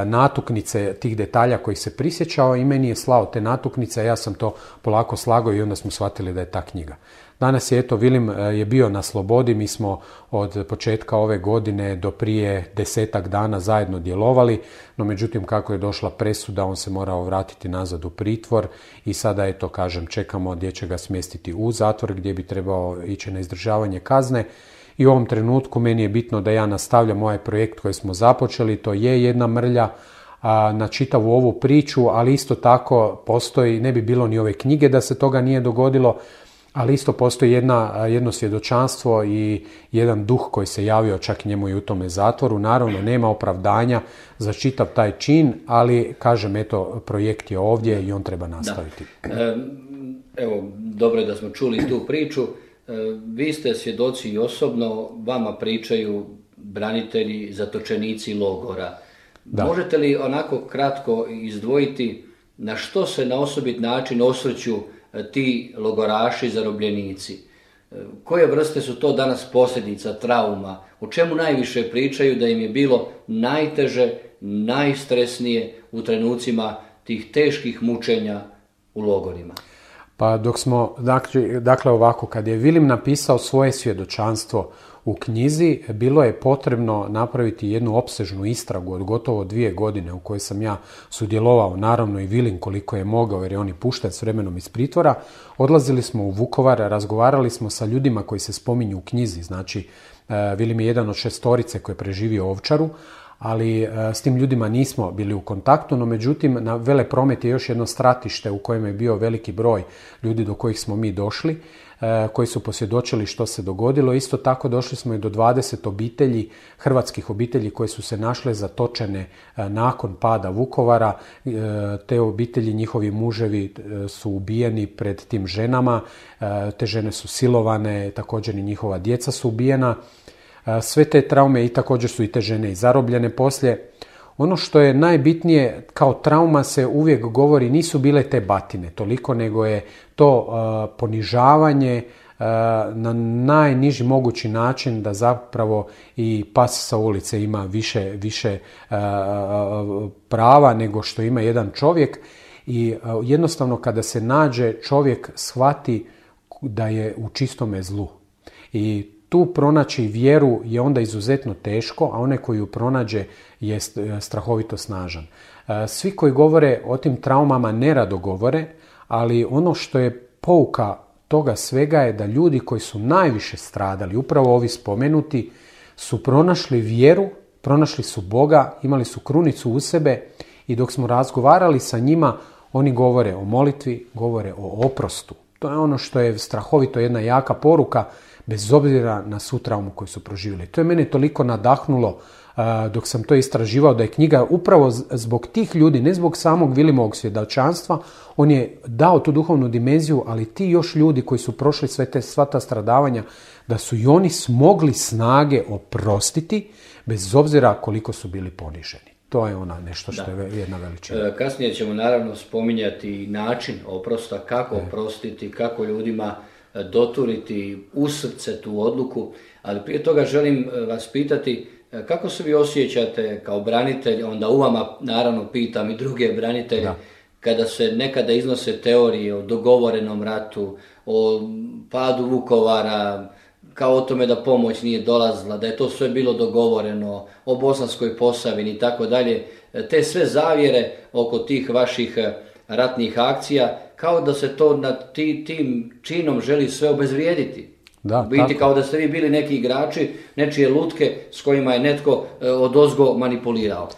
natuknice tih detalja kojih se prisjećao i meni je slao te natuknice, ja sam to polako slagao i onda smo shvatili da je ta knjiga. Danas je, eto, Vilim je bio na slobodi, mi smo od početka ove godine do prije desetak dana zajedno djelovali, no međutim kako je došla presuda, on se morao vratiti nazad u pritvor i sada, eto, kažem, čekamo gdje će ga smjestiti u zatvor, gdje bi trebao ići na izdržavanje kazne. I u ovom trenutku meni je bitno da ja nastavljam ovaj projekt koji smo započeli, to je jedna mrlja a, na čitavu ovu priču, ali isto tako postoji, ne bi bilo ni ove knjige da se toga nije dogodilo, ali isto postoji jedna, jedno svjedočanstvo i jedan duh koji se javio čak njemu i u tome zatvoru. Naravno, nema opravdanja za čitav taj čin, ali kažem, eto, projekt je ovdje i on treba nastaviti. Da. Evo, dobro je da smo čuli tu priču. Vi ste svjedoci i osobno, vama pričaju branitelji, zatočenici logora. Da. Možete li onako kratko izdvojiti na što se na osobit način osvrću ti logoraši, zarobljenici? Koje vrste su to danas posljedica, trauma? O čemu najviše pričaju da im je bilo najteže, najstresnije u trenucima tih teških mučenja u logorima? Pa dok smo, dakle, dakle ovako, kad je Vilim napisao svoje svjedočanstvo u knjizi, bilo je potrebno napraviti jednu opsežnu istragu od gotovo dvije godine u kojoj sam ja sudjelovao, naravno i Vilim koliko je mogao, jer je on i pušten s vremenom iz pritvora. Odlazili smo u Vukovar, razgovarali smo sa ljudima koji se spominju u knjizi, znači Vilim je jedan od šestorice koji je preživio Ovčaru, ali e, s tim ljudima nismo bili u kontaktu, no međutim na Velepromet je još jedno stratište u kojem je bio veliki broj ljudi do kojih smo mi došli, e, koji su posvjedočili što se dogodilo. Isto tako došli smo i do dvadeset obitelji, hrvatskih obitelji koje su se našle zatočene e, nakon pada Vukovara. E, te obitelji, njihovi muževi e, su ubijeni pred tim ženama, e, te žene su silovane, također i njihova djeca su ubijena. Sve te traume i također su i te žene i zarobljene poslije. Ono što je najbitnije, kao trauma se uvijek govori, nisu bile te batine toliko, nego je to uh, ponižavanje uh, na najniži mogući način, da zapravo i pas sa ulice ima više, više uh, prava nego što ima jedan čovjek. I uh, jednostavno kada se nađe, čovjek shvati da je u čistome zlu. I tu pronaći vjeru je onda izuzetno teško, a onaj koji ju pronađe je strahovito snažan. Svi koji govore o tim traumama nerado govore, ali ono što je pouka toga svega je da ljudi koji su najviše stradali, upravo ovi spomenuti, su pronašli vjeru, pronašli su Boga, imali su krunicu u sebe i dok smo razgovarali sa njima, oni govore o molitvi, govore o oprostu. To je ono što je strahovito jedna jaka poruka, bez obzira na svu traumu koju su proživjeli. To je mene toliko nadahnulo uh, dok sam to istraživao, da je knjiga upravo zbog tih ljudi, ne zbog samog Vilimovog svjedočanstva, on je dao tu duhovnu dimenziju, ali ti još ljudi koji su prošli sve te, sva ta stradavanja, da su i oni smogli snage oprostiti, bez obzira koliko su bili poniženi. To je ona nešto što da. je jedna veličina. E, kasnije ćemo naravno spominjati način oprosta, kako e. oprostiti, kako ljudima doturiti u srce tu odluku, ali prije toga želim vas pitati kako se vi osjećate kao branitelj, onda u vama naravno pitam i druge branitelje, da. kada se nekada iznose teorije o dogovorenom ratu, o padu Vukovara, kao o tome da pomoć nije dolazila, da je to sve bilo dogovoreno, o Bosanskoj Posavini i tako dalje. Te sve zavjere oko tih vaših ratnih akcija, kao da se to na ti, tim činom želi sve obezvrijediti. Da, Biti tako. kao da ste vi bili neki igrači, nečije lutke s kojima je netko odozgo manipulirao.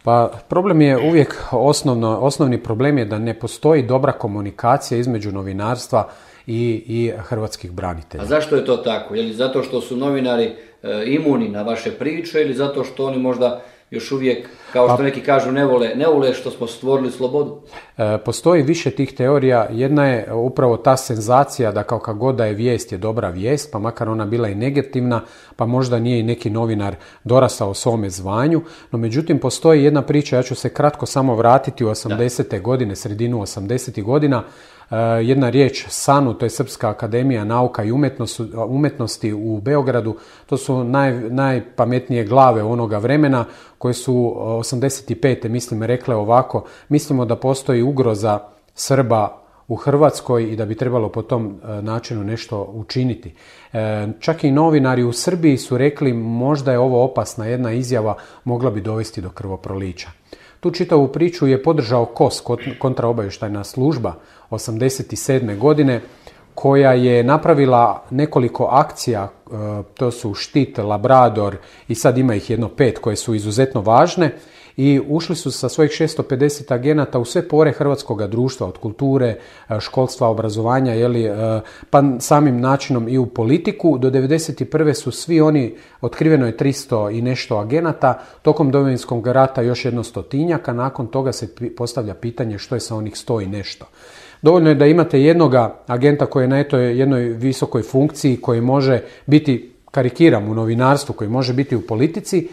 Pa problem je uvijek, osnovno, osnovni problem je da ne postoji dobra komunikacija između novinarstva i, i hrvatskih branitelja. A zašto je to tako? Je li zato što su novinari e, imuni na vaše priče ili zato što oni možda još uvijek, kao što neki kažu, ne vole, ne vole što smo stvorili slobodu? E, postoji više tih teorija. Jedna je upravo ta senzacija da kao kad god da je vijest je dobra vijest, pa makar ona bila i negativna, pa možda nije i neki novinar dorasao svome zvanju. No međutim, postoji jedna priča, ja ću se kratko samo vratiti u osamdesete godine, sredinu osamdesetih godina. Uh, jedna riječ SANU, to je Srpska akademija nauka i umetnosti, umetnosti u Beogradu, to su naj, najpametnije glave onoga vremena koje su osamdeset pete mislim rekle ovako: mislimo da postoji ugroza Srba u Hrvatskoj i da bi trebalo po tom uh, načinu nešto učiniti. Uh, čak i novinari u Srbiji su rekli možda je ovo opasna jedna izjava, mogla bi dovesti do krvoprolića. Tu čitavu priču je podržao K O S, kontraobavještajna služba, osamdeset sedme godine, koja je napravila nekoliko akcija, to su Štit, Labrador i sad ima ih jedno pet koje su izuzetno važne, i ušli su sa svojih šesto pedeset agenata u sve pore hrvatskog društva, od kulture, školstva, obrazovanja, jeli, pa samim načinom i u politiku. Do devedeset prve su svi oni, otkriveno je tristo i nešto agenata, tokom Domovinskog rata još jedno stotinjaka, nakon toga se postavlja pitanje što je sa onih sto i nešto. Dovoljno je da imate jednoga agenta koji je na eto jednoj visokoj funkciji, koji može biti, karikiram, u novinarstvu, koji može biti u politici.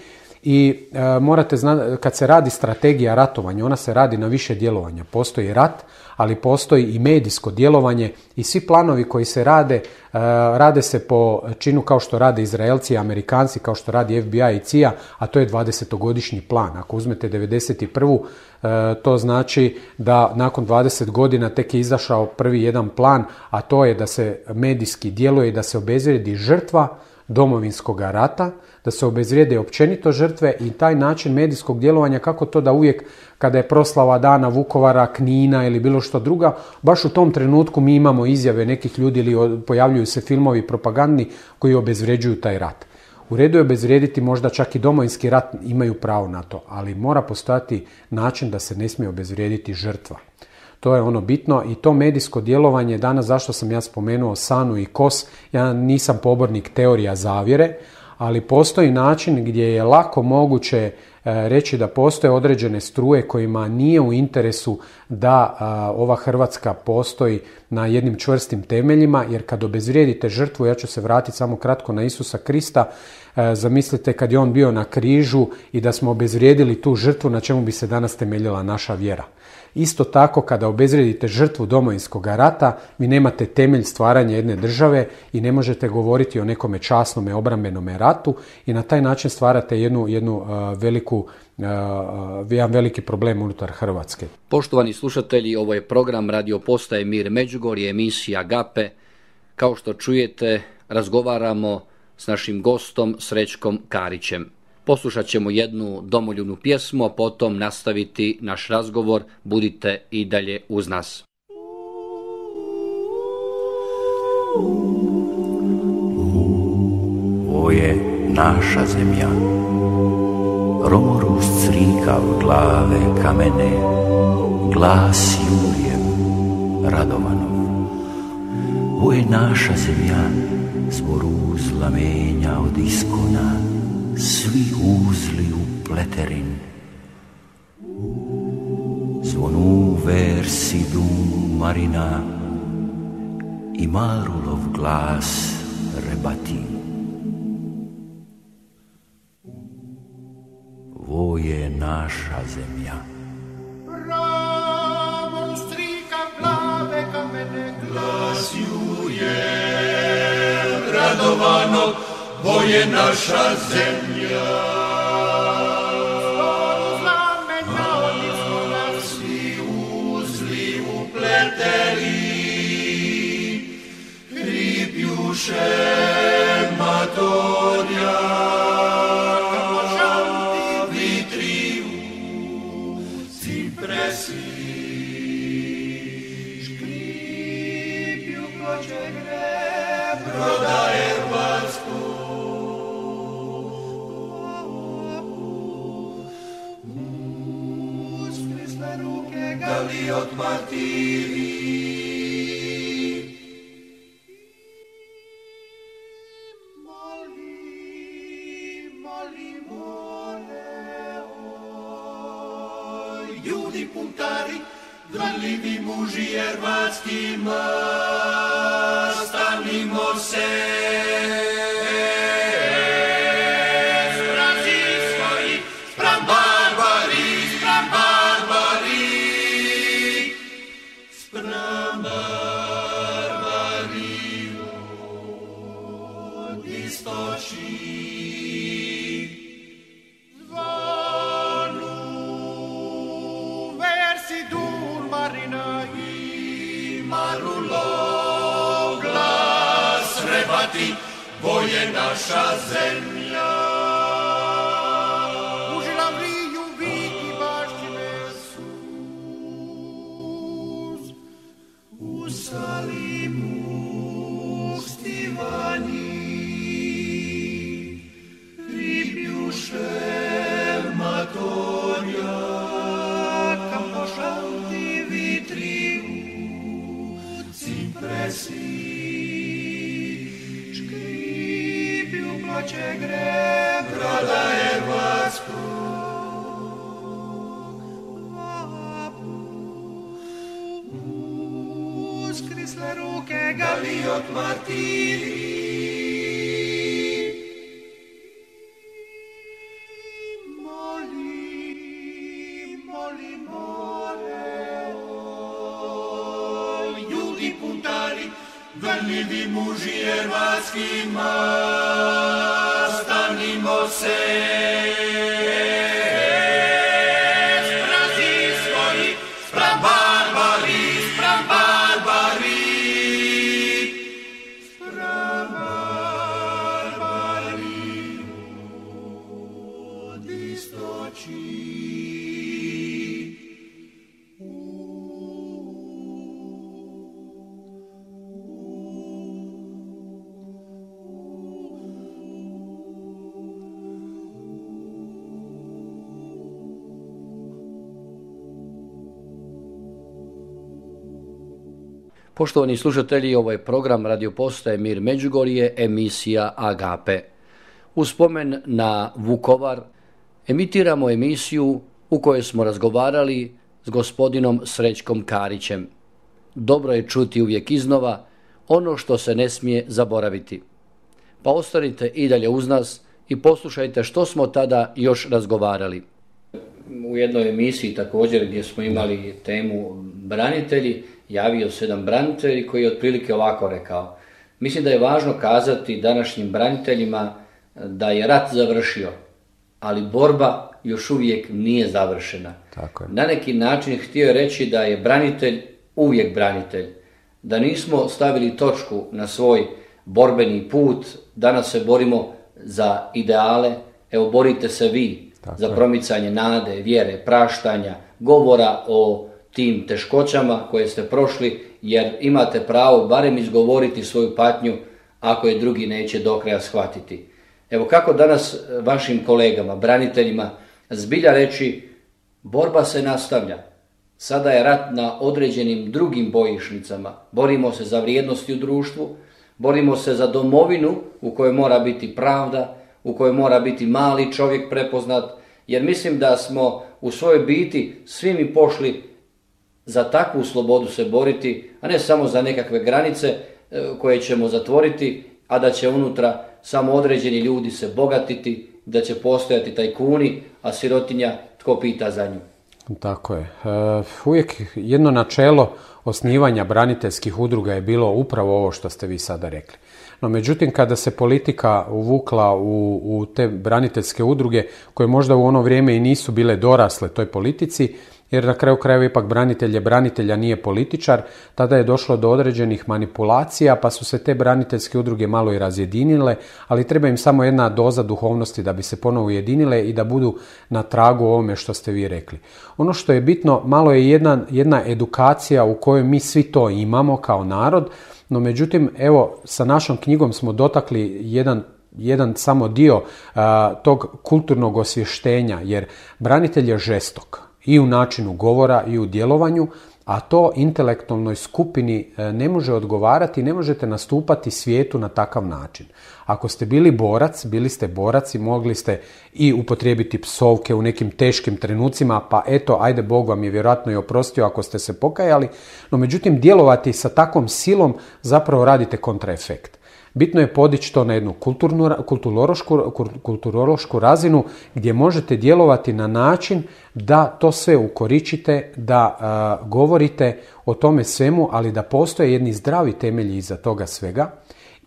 I e, morate znati, kad se radi strategija ratovanja, ona se radi na više djelovanja. Postoji rat, ali postoji i medijsko djelovanje i svi planovi koji se rade, e, rade se po činu kao što rade Izraelci i Amerikanci, kao što radi F B I i C I A, a to je dvadesetogodišnji plan. Ako uzmete devedeset prvu e, to znači da nakon dvadeset godina tek je izašao prvi jedan plan, a to je da se medijski djeluje i da se obezvrijedi žrtva Domovinskog rata, da se obezvrijede općenito žrtve i taj način medijskog djelovanja, kako to da uvijek kada je proslava dana Vukovara, Knina ili bilo što druga, baš u tom trenutku mi imamo izjave nekih ljudi ili pojavljuju se filmovi propagandni koji obezvređuju taj rat. U redu je obezvrijediti možda čak i Domovinski rat, imaju pravo na to, ali mora postojati način da se ne smije obezvrijediti žrtva. To je ono bitno i to medijsko djelovanje danas, zašto sam ja spomenuo SANU i K O S, ja nisam pobornik teorija zavjere, ali postoji način gdje je lako moguće reći da postoje određene struje kojima nije u interesu da ova Hrvatska postoji na jednim čvrstim temeljima, jer kad obezvrijedite žrtvu, ja ću se vratiti samo kratko na Isusa Krista, zamislite kad je on bio na križu i da smo obezvrijedili tu žrtvu, na čemu bi se danas temeljila naša vjera. Isto tako, kada obezvrijedite žrtvu Domovinskog rata, vi nemate temelj stvaranja jedne države i ne možete govoriti o nekome časnome obrambenome ratu i na taj način stvarate jednu, jednu uh, veliku, uh, jedan veliki problem unutar Hrvatske. Poštovani slušatelji, ovo je program Radio Postaje Mir Međugorje, emisija Agape. Kao što čujete, razgovaramo s našim gostom Srećkom Karićem. Poslušat ćemo jednu domoljubnu pjesmu, a potom nastaviti naš razgovor. Budite i dalje uz nas. Ovo je naša zemlja, Romorus crikav glave kamene, glas Jurijev Radovanov. Ovo je naša zemlja, zboru znamenja od iskona, svi uzli u pleterin. Zvonu versi dum marina i marulov glas rebati. Ovo je naša zemlja. Ramon strika glave kamene, glas Jurije Radovanog, ovo je naša zemlja. Zboru znamenja od iskona, svi uzli upleteli, hrip Jurije Ljudi puntari, gledljivi muži hrvatskima, stanimo se. Sprazi svoji, spram barbari, spram barbari, spram barbari od istočnih. Bo je naša zemlja. U Žilavliju viki baštine sus, u Salimu stivani, ribjušev matorja, kam pošanti vitri u cipresi. Će gre broda hrvatskog, uskrisle ruke Galiot martiri. Moli, moli more, oj, ljudi puntari, gledljivi muži hrvatskima, stanimo se. Sprazi svoji, spram barbari, spram barbari, spram barbari od istočnih. Poštovani slušatelji, ovo je program Radio Postaje Mir Međugorje, emisija Agape. U spomen na Vukovar emitiramo emisiju u kojoj smo razgovarali s gospodinom Srećkom Karićem. Dobro je čuti uvijek iznova ono što se ne smije zaboraviti. Pa ostanite i dalje uz nas i poslušajte što smo tada još razgovarali. U jednoj emisiji također gdje smo imali temu branitelji, javio se jedan branitelj koji je otprilike ovako rekao: mislim da je važno kazati današnjim braniteljima da je rat završio, ali borba još uvijek nije završena. Tako je. Na neki način htio je reći da je branitelj uvijek branitelj, da nismo stavili točku na svoj borbeni put, danas se borimo za ideale, evo borite se vi. Tako za promicanje nade, vjere, praštanja, govora o tim teškoćama koje ste prošli, jer imate pravo barem izgovoriti svoju patnju ako je drugi neće do kraja shvatiti. Evo kako danas vašim kolegama, braniteljima, zbilja reći borba se nastavlja. Sada je rat na određenim drugim bojišnicama. Borimo se za vrijednosti u društvu, borimo se za domovinu u kojoj mora biti pravda, u kojoj mora biti mali čovjek prepoznat, jer mislim da smo u svojoj biti svi mi pošli za takvu slobodu se boriti, a ne samo za nekakve granice koje ćemo zatvoriti, a da će unutra samo određeni ljudi se bogatiti, da će postojati tajkuni, a sirotinja tko pita za nju. Tako je. Uvijek jedno načelo osnivanja braniteljskih udruga je bilo upravo ovo što ste vi sada rekli. No međutim, kada se politika uvukla u, u te braniteljske udruge, koje možda u ono vrijeme i nisu bile dorasle toj politici, jer na kraju krajeva ipak branitelj je branitelj, a nije političar. Tada je došlo do određenih manipulacija, pa su se te braniteljske udruge malo i razjedinile, ali treba im samo jedna doza duhovnosti da bi se ponovo ujedinile i da budu na tragu ovome što ste vi rekli. Ono što je bitno, malo je jedna, jedna edukacija u kojoj mi svi to imamo kao narod, no međutim, evo, sa našom knjigom smo dotakli jedan jedan samo dio a, tog kulturnog osvještenja, jer branitelj je žestok i u načinu govora i u djelovanju, a to intelektualnoj skupini ne može odgovarati, ne možete nastupati svijetu na takav način. Ako ste bili borac, bili ste borac i mogli ste i upotrijebiti psovke u nekim teškim trenucima, pa eto, ajde, Bog vam je vjerojatno i oprostio ako ste se pokajali, no međutim djelovati sa takvom silom zapravo radite kontraefekt. Bitno je podići to na jednu kulturnu, kulturološku, kulturološku razinu gdje možete djelovati na način da to sve ukoričite, da uh, govorite o tome svemu, ali da postoje jedni zdravi temelji iza toga svega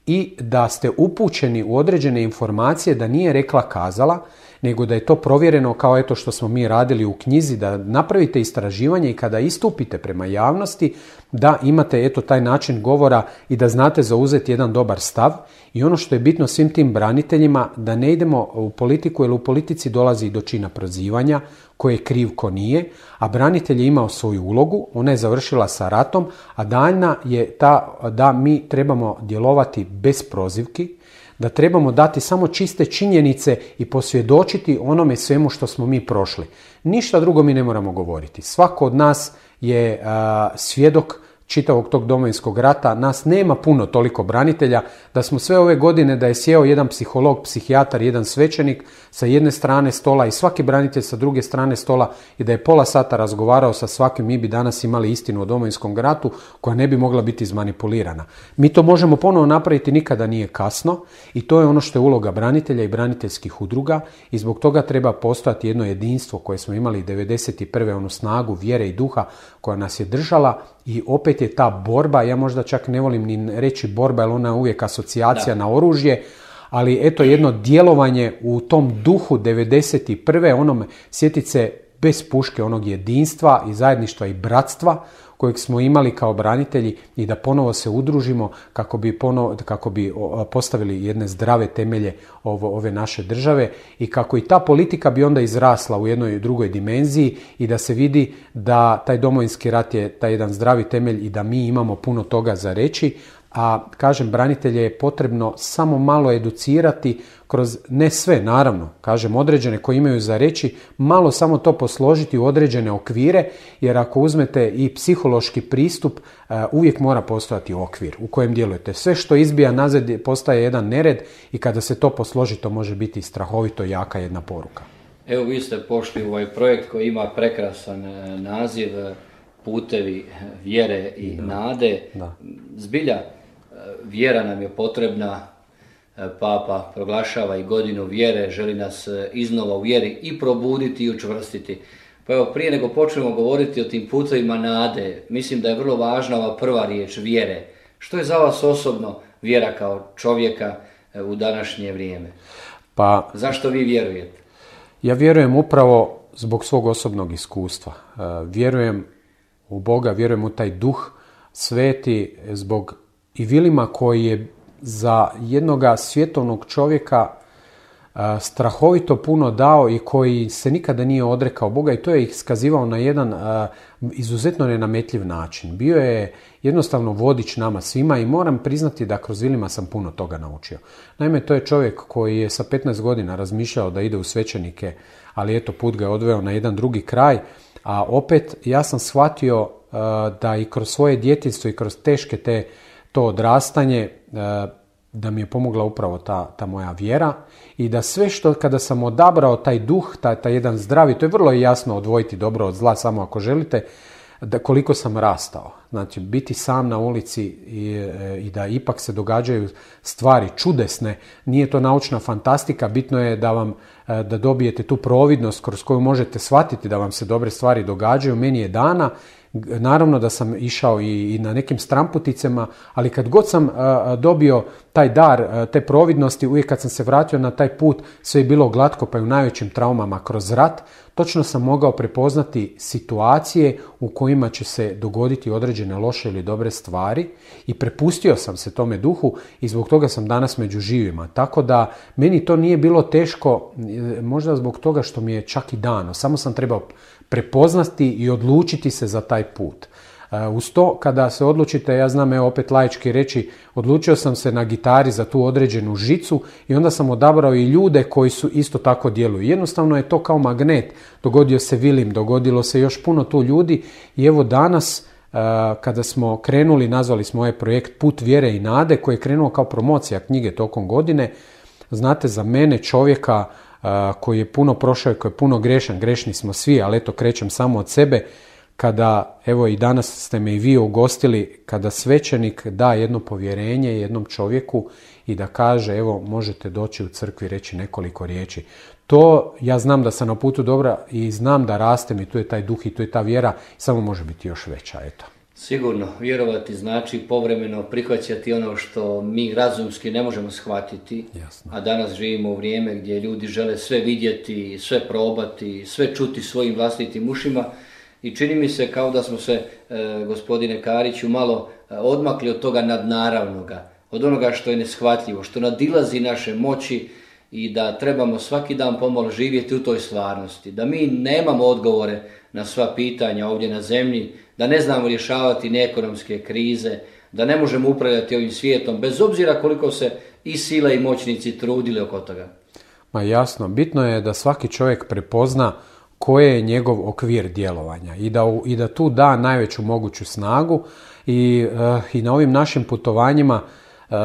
i da ste upućeni u određene informacije, da nije rekla kazala, nego da je to provjereno kao eto što smo mi radili u knjizi, da napravite istraživanje i kada istupite prema javnosti, da imate eto taj način govora i da znate zauzeti jedan dobar stav. I ono što je bitno svim tim braniteljima, da ne idemo u politiku, jer u politici dolazi do čina prozivanja, ko je kriv, ko nije, a branitelj je imao svoju ulogu, ona je završila sa ratom, a daljna je ta da mi trebamo djelovati bez prozivki, da trebamo dati samo čiste činjenice i posvjedočiti onome svemu što smo mi prošli. Ništa drugo mi ne moramo govoriti. Svako od nas je a, svjedok čitavog tog Domovinskog rata. Nas nema puno toliko branitelja, da smo sve ove godine da je sjeo jedan psiholog, psihijatar, jedan svećenik sa jedne strane stola i svaki branitelj sa druge strane stola i da je pola sata razgovarao sa svakim, mi bi danas imali istinu o Domovinskom ratu koja ne bi mogla biti izmanipulirana. Mi to možemo ponovo napraviti, nikada nije kasno, i to je ono što je uloga branitelja i braniteljskih udruga i zbog toga treba postojati jedno jedinstvo koje smo imali devedeset prve onu snagu vjere i duha koja nas je držala. I opet je ta borba, ja možda čak ne volim ni reći borba, jer ona je uvijek asocijacija da. na oružje, ali eto jedno djelovanje u tom duhu devedeset prve onom, sjetit se bez puške, onog jedinstva i zajedništva i bratstva kojeg smo imali kao branitelji i da ponovo se udružimo kako bi, ponovo, kako bi postavili jedne zdrave temelje ovo, ove naše države i kako i ta politika bi onda izrasla u jednoj drugoj dimenziji i da se vidi da taj Domovinski rat je taj jedan zdravi temelj i da mi imamo puno toga za reći. A kažem, branitelje je potrebno samo malo educirati kroz, ne sve naravno, kažem određene koji imaju za reći, malo samo to posložiti u određene okvire, jer ako uzmete i psihološki pristup, uvijek mora postojati okvir u kojem djelujete. Sve što izbija nazad postaje jedan nered i kada se to posloži, to može biti strahovito jaka jedna poruka. Evo, vi ste pošli u ovaj projekt koji ima prekrasan naziv Putevi vjere i da. nade. Da. Zbilja, vjera nam je potrebna, Papa proglašava i godinu vjere, želi nas iznova u vjeri i probuditi i učvrstiti. Pa evo, prije nego počnemo govoriti o tim putevima nade, mislim da je vrlo važna ova prva riječ, vjere. Što je za vas osobno vjera kao čovjeka u današnje vrijeme? Pa, zašto vi vjerujete? Ja vjerujem upravo zbog svog osobnog iskustva. Vjerujem u Boga, vjerujem u taj duh sveti zbog i Vilima koji je za jednoga svjetovnog čovjeka uh, strahovito puno dao i koji se nikada nije odrekao Boga i to je iskazivao na jedan uh, izuzetno nenametljiv način. Bio je jednostavno vodič nama svima i moram priznati da kroz Vilima sam puno toga naučio. Naime, to je čovjek koji je sa petnaest godina razmišljao da ide u svećenike, ali eto, put ga je odveo na jedan drugi kraj, a opet ja sam shvatio uh, da i kroz svoje djetinjstvo i kroz teške te to odrastanje, da mi je pomogla upravo ta, ta moja vjera i da sve što kada sam odabrao taj duh, taj, taj jedan zdravi, to je vrlo jasno odvojiti dobro od zla samo ako želite, da koliko sam rastao. Znači, biti sam na ulici i, i da ipak se događaju stvari čudesne, nije to naučna fantastika, bitno je da vam da dobijete tu providnost kroz koju možete shvatiti da vam se dobre stvari događaju. Meni je dana, naravno da sam išao i, i na nekim stramputicama, ali kad god sam a, dobio taj dar, te providnosti, uvijek kad sam se vratio na taj put, sve je bilo glatko, pa i u najvećim traumama kroz rat, točno sam mogao prepoznati situacije u kojima će se dogoditi određene loše ili dobre stvari i prepustio sam se tome duhu i zbog toga sam danas među živima. Tako da meni to nije bilo teško, možda zbog toga što mi je čak i dano. Samo sam trebao prepoznati i odlučiti se za taj put. Uz to, kada se odlučite, ja znam, evo opet laički reći, odlučio sam se na gitari za tu određenu žicu i onda sam odabrao i ljude koji su isto tako djeluju. Jednostavno je to kao magnet. Dogodio se Vilim, dogodilo se još puno tu ljudi i evo danas, kada smo krenuli, nazvali smo ovaj projekt Put vjere i nade, koji je krenuo kao promocija knjige tokom godine. Znate, za mene, čovjeka koji je puno prošao i koji je puno grešan, grešni smo svi, ali eto, krećem samo od sebe, kada, evo i danas ste me i vi ugostili, kada svećenik da jedno povjerenje jednom čovjeku i da kaže, evo, možete doći u crkvi i reći nekoliko riječi. To, ja znam da sam na putu dobra i znam da rastem i tu je taj duh i tu je ta vjera, samo može biti još veća, eto. Sigurno, vjerovati znači povremeno prihvaćati ono što mi razumski ne možemo shvatiti. Jasno. A danas živimo u vrijeme gdje ljudi žele sve vidjeti, sve probati, sve čuti svojim vlastitim ušima. I čini mi se kao da smo se, e, gospodine Kariću, malo odmakli od toga nadnaravnoga, od onoga što je neshvatljivo, što nadilazi naše moći i da trebamo svaki dan pomalo živjeti u toj stvarnosti. Da mi nemamo odgovore na sva pitanja ovdje na zemlji, da ne znamo rješavati ni ekonomske krize, da ne možemo upravljati ovim svijetom, bez obzira koliko se i sile i moćnici trudili oko toga. Ma jasno, bitno je da svaki čovjek prepozna koje je njegov okvir djelovanja i da, i da tu da najveću moguću snagu i, uh, i na ovim našim putovanjima uh,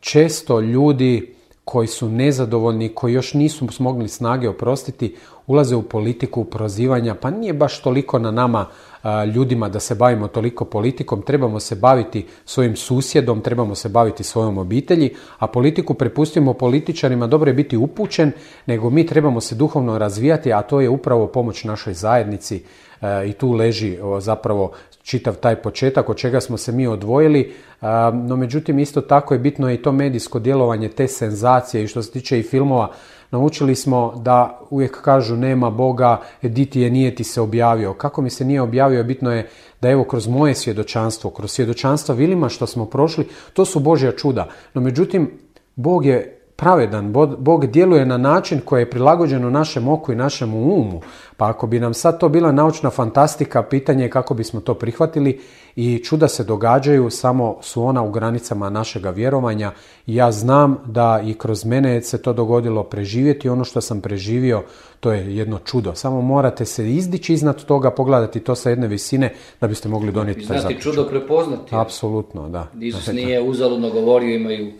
često ljudi koji su nezadovoljni, koji još nisu smogli snage oprostiti, ulaze u politiku prozivanja, pa nije baš toliko na nama a, ljudima da se bavimo toliko politikom, trebamo se baviti svojim susjedom, trebamo se baviti svojom obitelji, a politiku prepustimo političarima, dobro je biti upućen, nego mi trebamo se duhovno razvijati, a to je upravo pomoć našoj zajednici a, i tu leži o, zapravo čitav taj početak od čega smo se mi odvojili, no međutim isto tako je bitno i to medijsko djelovanje, te senzacije i što se tiče i filmova. Naučili smo da uvijek kažu nema Boga, di ti je, nije ti se objavio. Kako mi se nije objavio, bitno je da evo kroz moje svjedočanstvo, kroz svjedočanstva Vilima što smo prošli, to su Božja čuda. No međutim, Bog je pravedan, Bog djeluje na način koji je prilagođen u našem oku i našem umu. Pa ako bi nam sad to bila naučna fantastika, pitanje je kako bismo to prihvatili i čuda se događaju, samo su ona u granicama našega vjerovanja. I ja znam da i kroz mene se to dogodilo preživjeti. Ono što sam preživio, to je jedno čudo. Samo morate se izdići iznad toga, pogledati to sa jedne visine da biste mogli donijeti taj zaključak. Znati čudo prepoznati. Apsolutno, da. Isus nije uzaludno govorio, imaju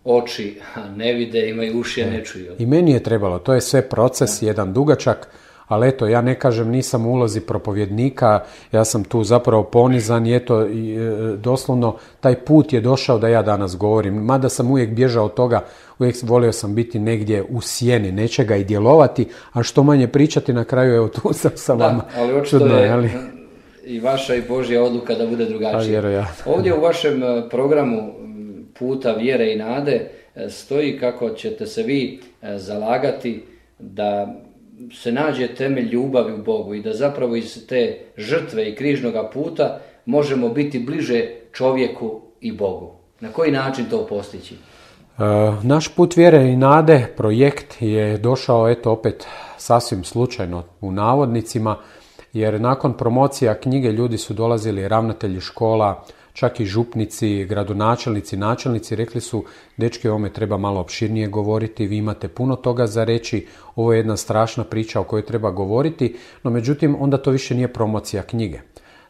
oči, a ne vide, imaju uši, a ne čuju. I meni je trebalo, to je sve proces, jedan dugačak, ali eto, ja ne kažem, nisam u ulozi propovjednika, ja sam tu zapravo ponizan i eto, i, e, doslovno, taj put je došao da ja danas govorim, mada sam uvijek bježao od toga, uvijek volio sam biti negdje u sjeni nečega i djelovati, a što manje pričati, na kraju, evo, tu sam sa vama. Da, ali očito je ali... i vaša i Božja odluka da bude drugačija. Ovdje u vašem programu Puta vjere i nade stoji kako ćete se vi zalagati da se nađe temelj ljubavi u Bogu i da zapravo iz te žrtve i križnoga puta možemo biti bliže čovjeku i Bogu. Na koji način to postići? E, naš Put vjere i nade projekt je došao eto opet sasvim slučajno u navodnicima, jer nakon promocija knjige ljudi su dolazili, ravnatelji škola, čak i župnici, gradonačelnici, načelnici, rekli su, dečki, o ovome treba malo opširnije govoriti, vi imate puno toga za reći, ovo je jedna strašna priča o kojoj treba govoriti, no međutim onda to više nije promocija knjige.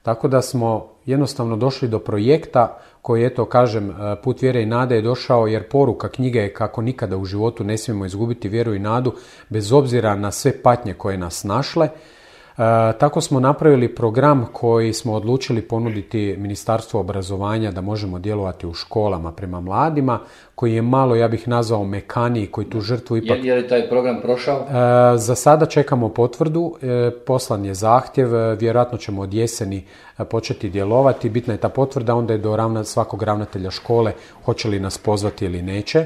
Tako da smo jednostavno došli do projekta koji, eto, kažem, Put vjere i nade je došao jer poruka knjige je kako nikada u životu ne smijemo izgubiti vjeru i nadu, bez obzira na sve patnje koje nas našle. tako smo napravili program koji smo odlučili ponuditi Ministarstvu obrazovanja da možemo djelovati u školama prema mladima, koji je malo, ja bih nazvao, mekaniji, koji tu žrtvu ipak... Je, je li taj program prošao? E, za sada čekamo potvrdu, e, poslan je zahtjev, e, vjerojatno ćemo od jeseni e, početi djelovati. Bitna je ta potvrda, onda je do ravna, svakog ravnatelja škole hoće li nas pozvati ili neće.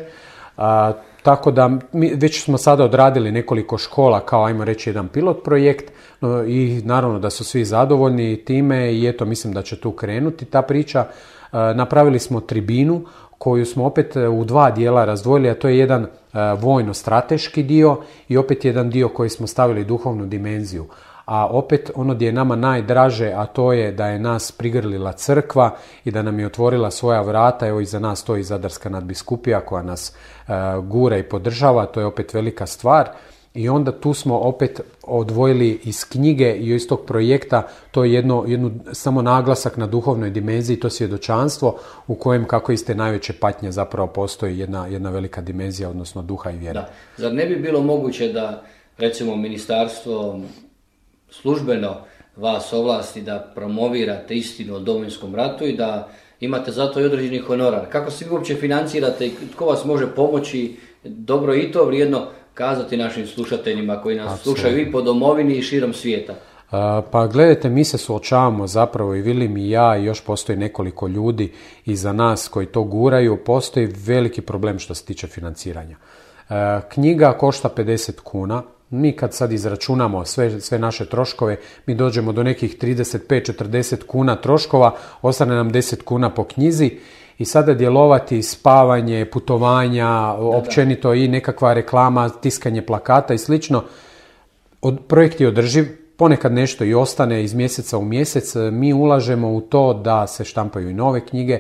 A, tako da mi već smo sada odradili nekoliko škola kao, ajmo reći, jedan pilot projekt, no, i naravno da su svi zadovoljni time i eto, mislim da će tu krenuti ta priča. A, napravili smo tribinu koju smo opet u dva dijela razdvojili, a to je jedan a, vojno-strateški dio i opet jedan dio koji smo stavili duhovnu dimenziju. A opet ono gdje je nama najdraže, a to je da je nas prigrlila crkva i da nam je otvorila svoja vrata. Evo iza nas stoji Zadarska nadbiskupija koja nas e, gura i podržava, to je opet velika stvar. I onda tu smo opet odvojili iz knjige i iz tog projekta to je jedno, jednu, samo naglasak na duhovnoj dimenziji, to svjedočanstvo u kojem, kako iz te najveće patnje, zapravo postoji jedna, jedna velika dimenzija, odnosno duha i vjere. Da. Zar ne bi bilo moguće da, recimo, ministarstvo službeno vas ovlasti da promovirate istinu o Domovinskom ratu i da imate zato i određeni honorar? Kako se vi uopće financirate i tko vas može pomoći? Dobro i to vrijedno kazati našim slušateljima koji nas Absolutno. Slušaju i po domovini i širom svijeta. Pa gledajte, mi se suočavamo zapravo, i Vilim i ja, i još postoji nekoliko ljudi iza nas koji to guraju. Postoji veliki problem što se tiče financiranja. Knjiga košta pedeset kuna. Mi kad sad izračunamo sve, sve naše troškove, mi dođemo do nekih trideset pet do četrdeset kuna troškova, ostane nam deset kuna po knjizi i sada djelovati spavanje, putovanja, da, općenito da. I nekakva reklama, tiskanje plakata i slično. Od, projekt je održiv, ponekad nešto i ostane iz mjeseca u mjesec. Mi ulažemo u to da se štampaju i nove knjige.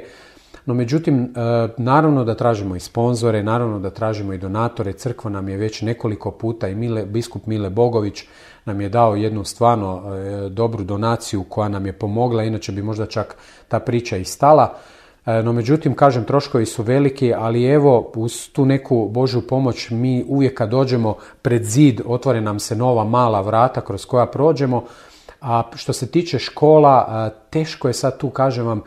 No međutim, naravno da tražimo i sponzore, naravno da tražimo i donatore. Crkva nam je već nekoliko puta i Mile, biskup Mile Bogović nam je dao jednu stvarno dobru donaciju koja nam je pomogla, inače bi možda čak ta priča i stala. No međutim, kažem, troškovi su veliki, ali evo, uz tu neku Božju pomoć mi uvijek kad dođemo pred zid, otvore nam se nova mala vrata kroz koja prođemo. A što se tiče škola, teško je sad tu, kažem vam,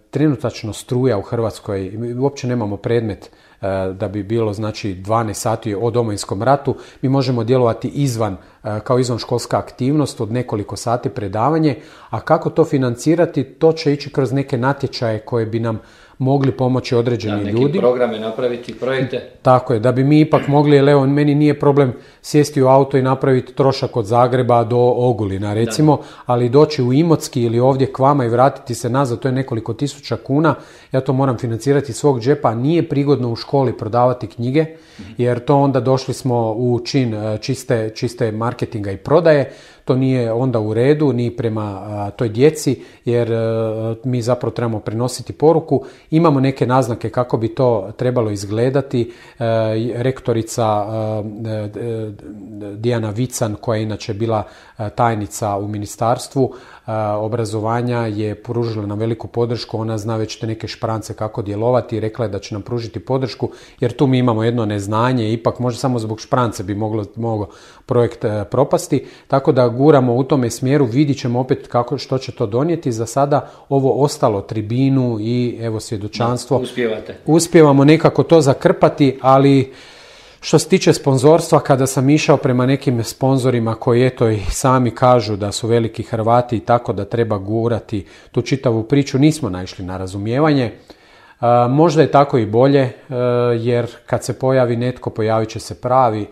trenutačno struja u Hrvatskoj, uopće nemamo predmet da bi bilo, znači, dvanaest sati o Domovinskom ratu. Mi možemo djelovati izvan, kao izvan školska aktivnost od nekoliko sati predavanje, a kako to financirati, to će ići kroz neke natječaje koje bi nam mogli pomoći određeni da, ljudi. Neki programe napraviti, projekte. Tako je, da bi mi ipak mogli, jer evo, meni nije problem sjesti u auto i napraviti trošak od Zagreba do Ogulina, recimo, da. Ali doći u Imotski ili ovdje k vama i vratiti se nazad, to je nekoliko tisuća kuna, ja to moram financirati iz svog džepa, nije prigodno u školi prodavati knjige, jer to onda došli smo u čin čiste, čiste marketinga i prodaje. To nije onda u redu ni prema a, toj djeci, jer a, mi zapravo trebamo prenositi poruku. Imamo neke naznake kako bi to trebalo izgledati. E, rektorica a, e, Dijana Vican, koja je inače bila a, tajnica u ministarstvu a, obrazovanja, je pružila nam veliku podršku. Ona zna već te neke šprance kako djelovati i rekla je da će nam pružiti podršku, jer tu mi imamo jedno neznanje, ipak možda samo zbog šprance bi moglo, moglo projekt a, propasti. Tako da guramo u tome smjeru, vidit ćemo opet kako, što će to donijeti. Za sada ovo ostalo, tribinu i evo svjedočanstvo. Da, uspijevate. Uspijevamo nekako to zakrpati, ali što se tiče sponzorstva, kada sam išao prema nekim sponzorima koji eto i sami kažu da su veliki Hrvati i tako da treba gurati tu čitavu priču, nismo naišli na razumijevanje. Uh, možda je tako i bolje, uh, jer kad se pojavi netko, pojavit će se pravi,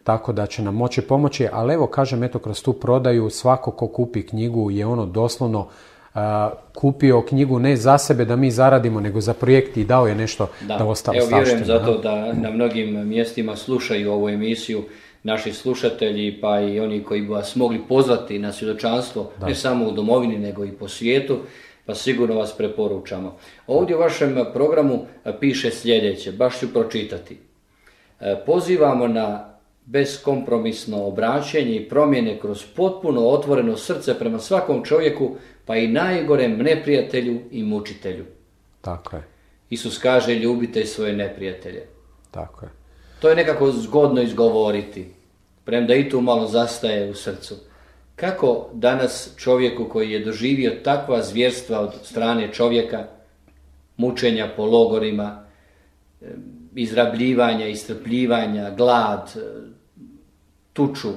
tako da će nam moći pomoći, ali evo kažem, eto, kroz tu prodaju svako ko kupi knjigu je ono doslovno uh, kupio knjigu ne za sebe da mi zaradimo, nego za projekt i dao je nešto da, da ostalo evo, stavštine. Vjerujem zato da na mnogim mjestima slušaju ovu emisiju naši slušatelji, pa i oni koji bi vas mogli pozvati na svjedočanstvo, da. Ne samo u domovini, nego i po svijetu, pa sigurno vas preporučamo. Ovdje u vašem programu piše sljedeće, baš ću pročitati. Pozivamo na beskompromisno obraćenje i promjene kroz potpuno otvoreno srce prema svakom čovjeku, pa i najgorem neprijatelju i mučitelju. Tako je. Isus kaže, ljubite svoje neprijatelje. Tako je. To je nekako zgodno izgovoriti, premda i tu malo zastaje u srcu. Kako danas čovjeku koji je doživio takva zvjerstva od strane čovjeka, mučenja po logorima, izrabljivanja, istrpljivanja, glad, tuču,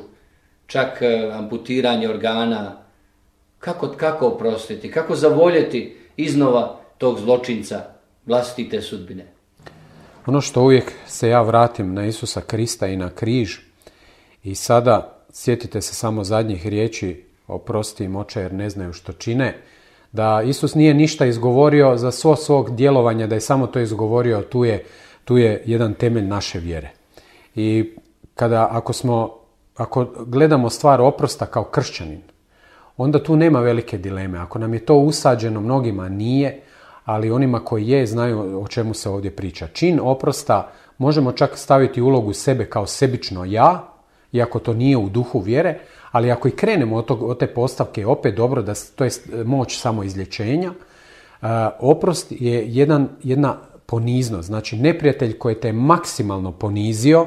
čak amputiranje organa, kako, kako oprostiti, kako zavoljeti iznova tog zločinca vlastite sudbine? Ono što uvijek se ja vratim na Isusa Krista i na križ i sada sjetite se samo zadnjih riječi, oprosti im oče jer ne znaju što čine, da Isus nije ništa izgovorio za svo svog djelovanja, da je samo to izgovorio, tu je, tu je jedan temelj naše vjere. I kada, ako smo, ako gledamo stvar oprosta kao kršćanin, onda tu nema velike dileme. Ako nam je to usađeno, mnogima nije, ali onima koji je znaju o čemu se ovdje priča. Čin oprosta možemo čak staviti ulogu sebe kao sebično ja, iako to nije u duhu vjere, ali ako i krenemo od, tog, od te postavke, je opet dobro da to je moć samo izlječenja. Uh, oprost je jedan, jedna poniznost, znači neprijatelj koji te maksimalno ponizio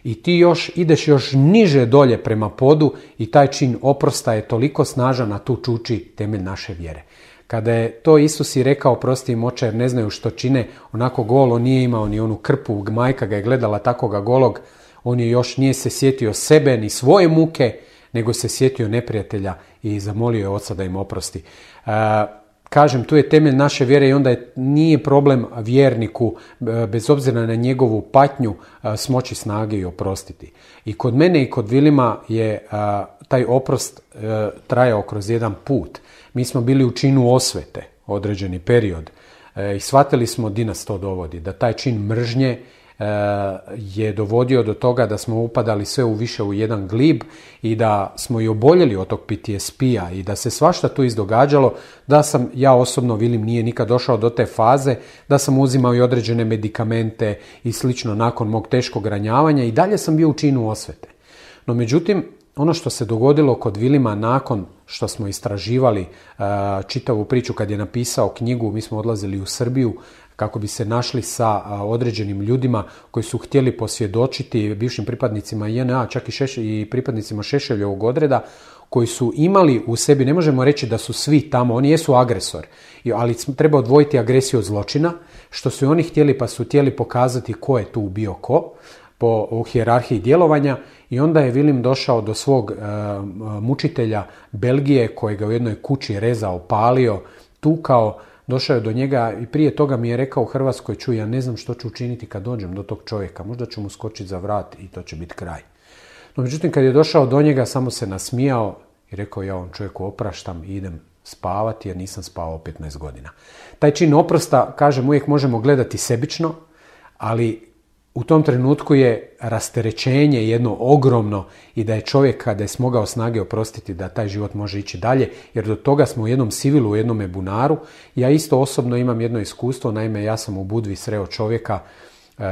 i ti još ideš još niže dolje prema podu i taj čin oprosta je toliko snažan, a tu čuči temelj naše vjere. Kada je to Isus i rekao prosti im oče jer ne znaju što čine, onako golo nije imao ni onu krpu, majka ga je gledala takoga golog, on je još nije se sjetio sebe ni svoje muke, nego se sjetio neprijatelja i zamolio je oca da im oprosti. E, kažem, tu je temelj naše vjere i onda je, nije problem vjerniku, bez obzira na njegovu patnju, smoći snage i oprostiti. I kod mene i kod Vilima je a, taj oprost a, trajao kroz jedan put. Mi smo bili u činu osvete određeni period e, i shvatili smo di nas to dovodi, da taj čin mržnje je dovodio do toga da smo upadali sve u više u jedan glib i da smo i oboljeli od tog P T S P-a i da se svašta tu izdogađalo, da sam, ja osobno, Vilim nije nikad došao do te faze, da sam uzimao i određene medikamente i slično nakon mog teškog ranjavanja i dalje sam bio u činu osvete. No međutim, ono što se dogodilo kod Vilima nakon što smo istraživali uh, čitavu priču kad je napisao knjigu, mi smo odlazili u Srbiju kako bi se našli sa određenim ljudima koji su htjeli posvjedočiti bivšim pripadnicima J N A, čak i, šeš, i pripadnicima Šešeljevog odreda, koji su imali u sebi, ne možemo reći da su svi tamo, oni jesu agresor, ali treba odvojiti agresiju od zločina, što su i oni htjeli, pa su htjeli pokazati ko je tu bio ko, po u hijerarhiji djelovanja, i onda je Vilim došao do svog uh, mučitelja Belgije, kojega u jednoj kući rezao, palio, tukao. Došao je do njega i prije toga mi je rekao u Hrvatskoj, čuj, ja ne znam što ću učiniti kad dođem do tog čovjeka, možda ću mu skočiti za vrat i to će biti kraj. No međutim, kad je došao do njega, samo se nasmijao i rekao, ja ovom čovjeku opraštam i idem spavati jer nisam spavao petnaest godina. Taj čin oprosta, kažem, uvijek možemo gledati sebično, ali u tom trenutku je rasterećenje jedno ogromno i da je čovjek kada je smogao snage oprostiti da taj život može ići dalje, jer do toga smo u jednom sivilu, u jednome bunaru. Ja isto osobno imam jedno iskustvo, naime ja sam u Budvi sreo čovjeka uh,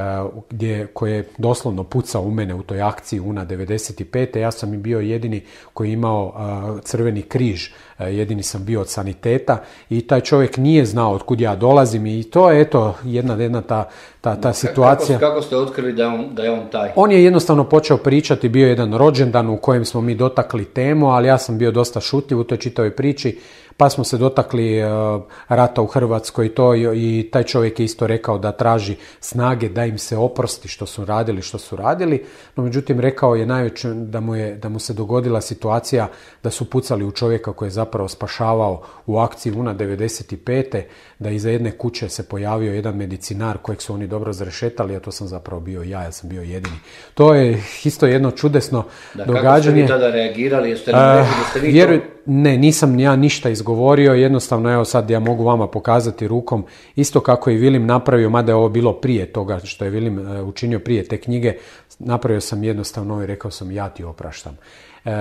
gdje, koji je doslovno pucao u mene u toj akciji U N A devedeset pete. Ja sam i bio jedini koji je imao uh, crveni križ, uh, jedini sam bio od saniteta i taj čovjek nije znao od kud ja dolazim i to je eto jedna, jedna ta Ta, ta situacija. Kako, kako ste otkrili da je, on, da je on taj? On je jednostavno počeo pričati, bio jedan rođendan u kojem smo mi dotakli temu, ali ja sam bio dosta šutljiv u toj čitavoj priči, pa smo se dotakli uh, rata u Hrvatskoj i to i, i taj čovjek je isto rekao da traži snage da im se oprosti što su radili, što su radili, no međutim rekao je najveće da mu, je, da mu se dogodila situacija da su pucali u čovjeka koji je zapravo spašavao u akciji U N A devedeset pete, da iza jedne kuće se pojavio jedan medicinar kojeg su oni dobro zrešetali, a to sam zapravo bio ja, ja sam bio jedini. To je isto jedno čudesno da, događanje. Kako ste vi tada reagirali? Jeste nam rekli da ste vi Vjeruj, to... Ne, nisam ja ništa izgovorio, jednostavno evo sad ja mogu vama pokazati rukom, isto kako je Vilim napravio, mada je ovo bilo prije toga što je Vilim uh, učinio prije te knjige, napravio sam jednostavno i rekao sam ja ti opraštam. Uh,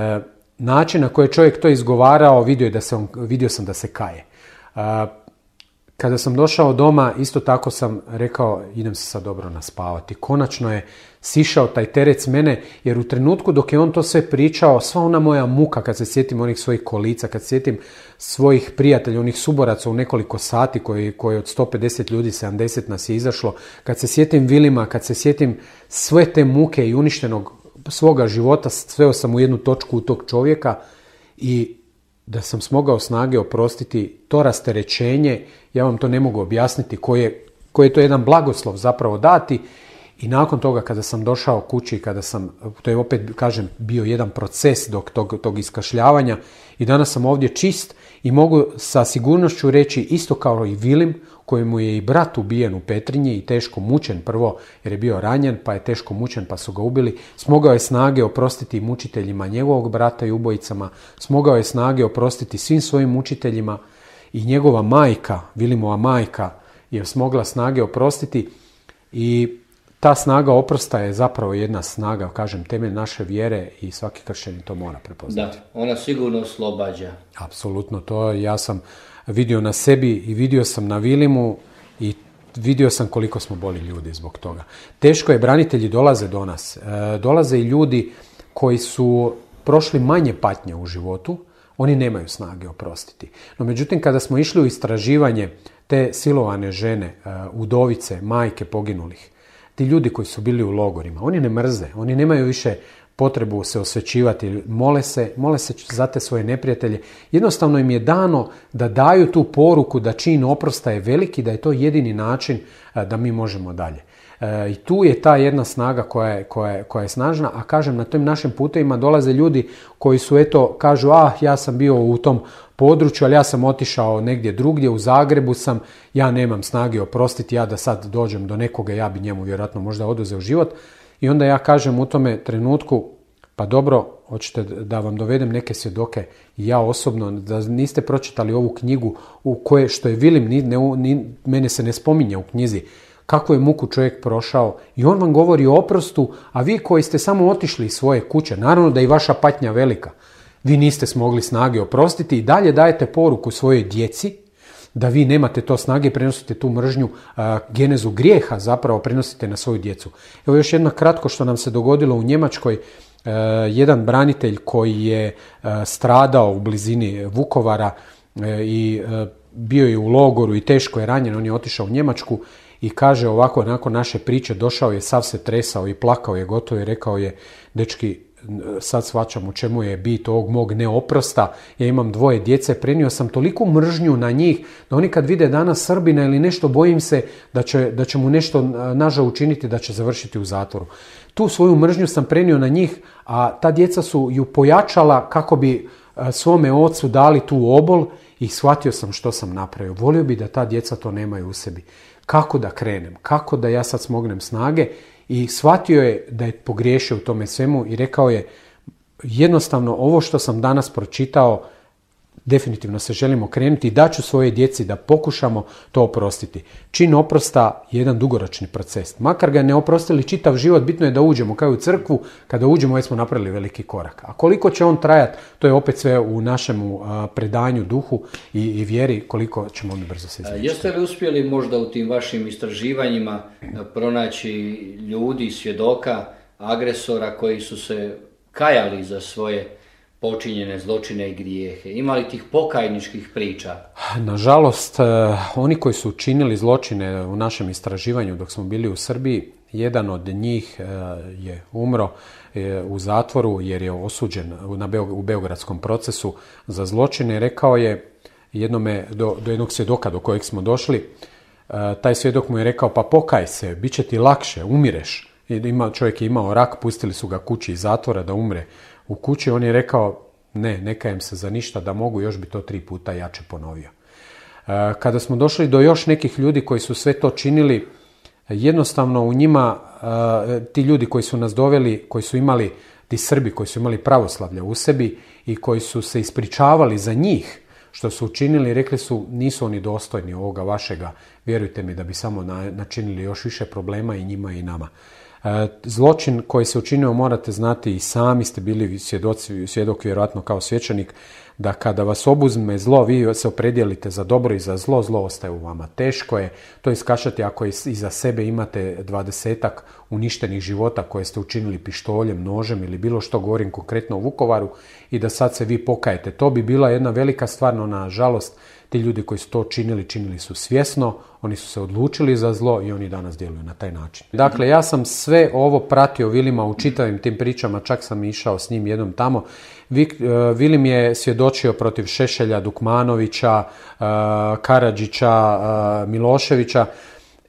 način na koji je čovjek to izgovarao, vidio, je da se on, vidio sam da se kaje. Uh, Kada sam došao doma, isto tako sam rekao, idem se sad dobro naspavati. Konačno je sišao taj teret s mene, jer u trenutku dok je on to sve pričao, sva ona moja muka, kad se sjetim onih svojih kolica, kad se sjetim svojih prijatelja, onih suboraca u nekoliko sati, koji, koji od sto pedeset ljudi, sedamdeset nas je izašlo, kad se sjetim Vilima, kad se sjetim sve te muke i uništenog svoga života, sveo sam u jednu točku u tog čovjeka i da sam smogao snage oprostiti to rasterećenje, ja vam to ne mogu objasniti, koje, koje je to jedan blagoslov zapravo dati. I nakon toga kada sam došao kući, kada sam, to je opet, kažem, bio jedan proces dok tog, tog iskašljavanja i danas sam ovdje čist i mogu sa sigurnošću reći isto kao i Vilim, kojemu je i brat ubijen u Petrinji i teško mučen prvo jer je bio ranjen, pa je teško mučen pa su ga ubili. Smogao je snage oprostiti mučiteljima njegovog brata i ubojicama, smogao je snage oprostiti svim svojim mučiteljima i njegova majka, Vilimova majka, je smogla snage oprostiti i ta snaga oprosta je zapravo jedna snaga, kažem, temelj naše vjere i svaki kršćanin to mora prepoznati. Da, ona sigurno oslobađa. Apsolutno, to ja sam vidio na sebi i vidio sam na Vilimu i vidio sam koliko smo boli ljudi zbog toga. Teško je, branitelji dolaze do nas. E, dolaze i ljudi koji su prošli manje patnje u životu, oni nemaju snage oprostiti. No međutim, kada smo išli u istraživanje te silovane žene, udovice, majke poginulih, ti ljudi koji su bili u logorima, oni ne mrze, oni nemaju više potrebu se osvećivati, mole se, mole se za te svoje neprijatelje. Jednostavno im je dano da daju tu poruku da čin oprosta je veliki, da je to jedini način da mi možemo dalje. I tu je ta jedna snaga koja je, koja je, koja je snažna, a kažem, na tim našim putevima dolaze ljudi koji su, eto, kažu, ah, ja sam bio u tom području, ali ja sam otišao negdje drugdje, u Zagrebu sam, ja nemam snage oprostiti, ja da sad dođem do nekoga, ja bi njemu vjerojatno možda oduzeo život. I onda ja kažem u tome trenutku, pa dobro, hoćete da vam dovedem neke svjedoke, ja osobno, da niste pročitali ovu knjigu u koje, što je Vilim, ni, ne, ni, mene se ne spominje u knjizi, kako je muku čovjek prošao i on vam govori o oprostu, a vi koji ste samo otišli iz svoje kuće, naravno da je i vaša patnja velika, vi niste smogli snage oprostiti i dalje dajete poruku svojoj djeci da vi nemate to snage, prenosite tu mržnju, a, genezu grijeha zapravo prenosite na svoju djecu. Evo još jedno kratko što nam se dogodilo u Njemačkoj. A, jedan branitelj koji je a, stradao u blizini Vukovara a, i a, bio je u logoru i teško je ranjen, on je otišao u Njemačku i kaže ovako, nakon naše priče, došao je, sav se tresao i plakao je gotovo i rekao je, dečki, sad shvaćam u čemu je bit ovog mog neoprosta, ja imam dvoje djece, prenio sam toliku mržnju na njih, da oni kad vide danas Srbina ili nešto, bojim se da će, da će mu nešto nažao učiniti, da će završiti u zatvoru. Tu svoju mržnju sam prenio na njih, a ta djeca su ju pojačala kako bi svome ocu dali tu obol i shvatio sam što sam napravio. Volio bi da ta djeca to nemaju u sebi. Kako da krenem? Kako da ja sad smognem snage? I shvatio je da je pogriješio u tome svemu i rekao je, jednostavno ovo što sam danas pročitao, definitivno se želim okrenuti i daću svoje djeci da pokušamo to oprostiti. Čin oprosta je jedan dugoročni proces. Makar ga ne oprostili čitav život, bitno je da uđemo kao u crkvu, kada uđemo već smo napravili veliki korak. A koliko će on trajati, to je opet sve u našemu predanju, duhu i, i vjeri, koliko ćemo mi brzo se izvješiti. Jeste li uspjeli možda u tim vašim istraživanjima pronaći ljudi, svjedoka, agresora koji su se kajali za svoje počinjene zločine i grijehe? Ima li tih pokajničkih priča? Nažalost, oni koji su učinili zločine u našem istraživanju dok smo bili u Srbiji, jedan od njih je umro u zatvoru jer je osuđen u beogradskom procesu za zločine. Rekao je jednome, do, do jednog svjedoka do kojeg smo došli, taj svjedok mu je rekao, pa pokaj se, bit će ti lakše, umireš. Ima, čovjek je imao rak, pustili su ga kući iz zatvora da umre u kući. On je rekao, ne, ne kajem se za ništa, da mogu, još bi to tri puta jače ponovio. Kada smo došli do još nekih ljudi koji su sve to činili, jednostavno u njima, ti ljudi koji su nas doveli, koji su imali, ti Srbi koji su imali pravoslavlje u sebi i koji su se ispričavali za njih, što su učinili, rekli su, nisu oni dostojni ovoga vašega, vjerujte mi da bi samo načinili još više problema i njima i nama. Zločin koji se učinio, morate znati, i sami ste bili svjedoci, svjedok vjerojatno kao svećenik, da kada vas obuzme zlo, vi se opredijelite za dobro i za zlo, zlo ostaje u vama. Teško je to iskašati ako iza sebe imate dvadesetak uništenih života koje ste učinili pištoljem, nožem ili bilo što, govorim konkretno u Vukovaru, i da sad se vi pokajete. To bi bila jedna velika stvar, no nažalost Ti ljudi koji su to činili, činili su svjesno, oni su se odlučili za zlo i oni danas djeluju na taj način. Dakle, ja sam sve ovo pratio Vilima u čitavim tim pričama, čak sam išao s njim jednom tamo. Vilim je svjedočio protiv Šešelja, Dukmanovića, Karadžića, Miloševića.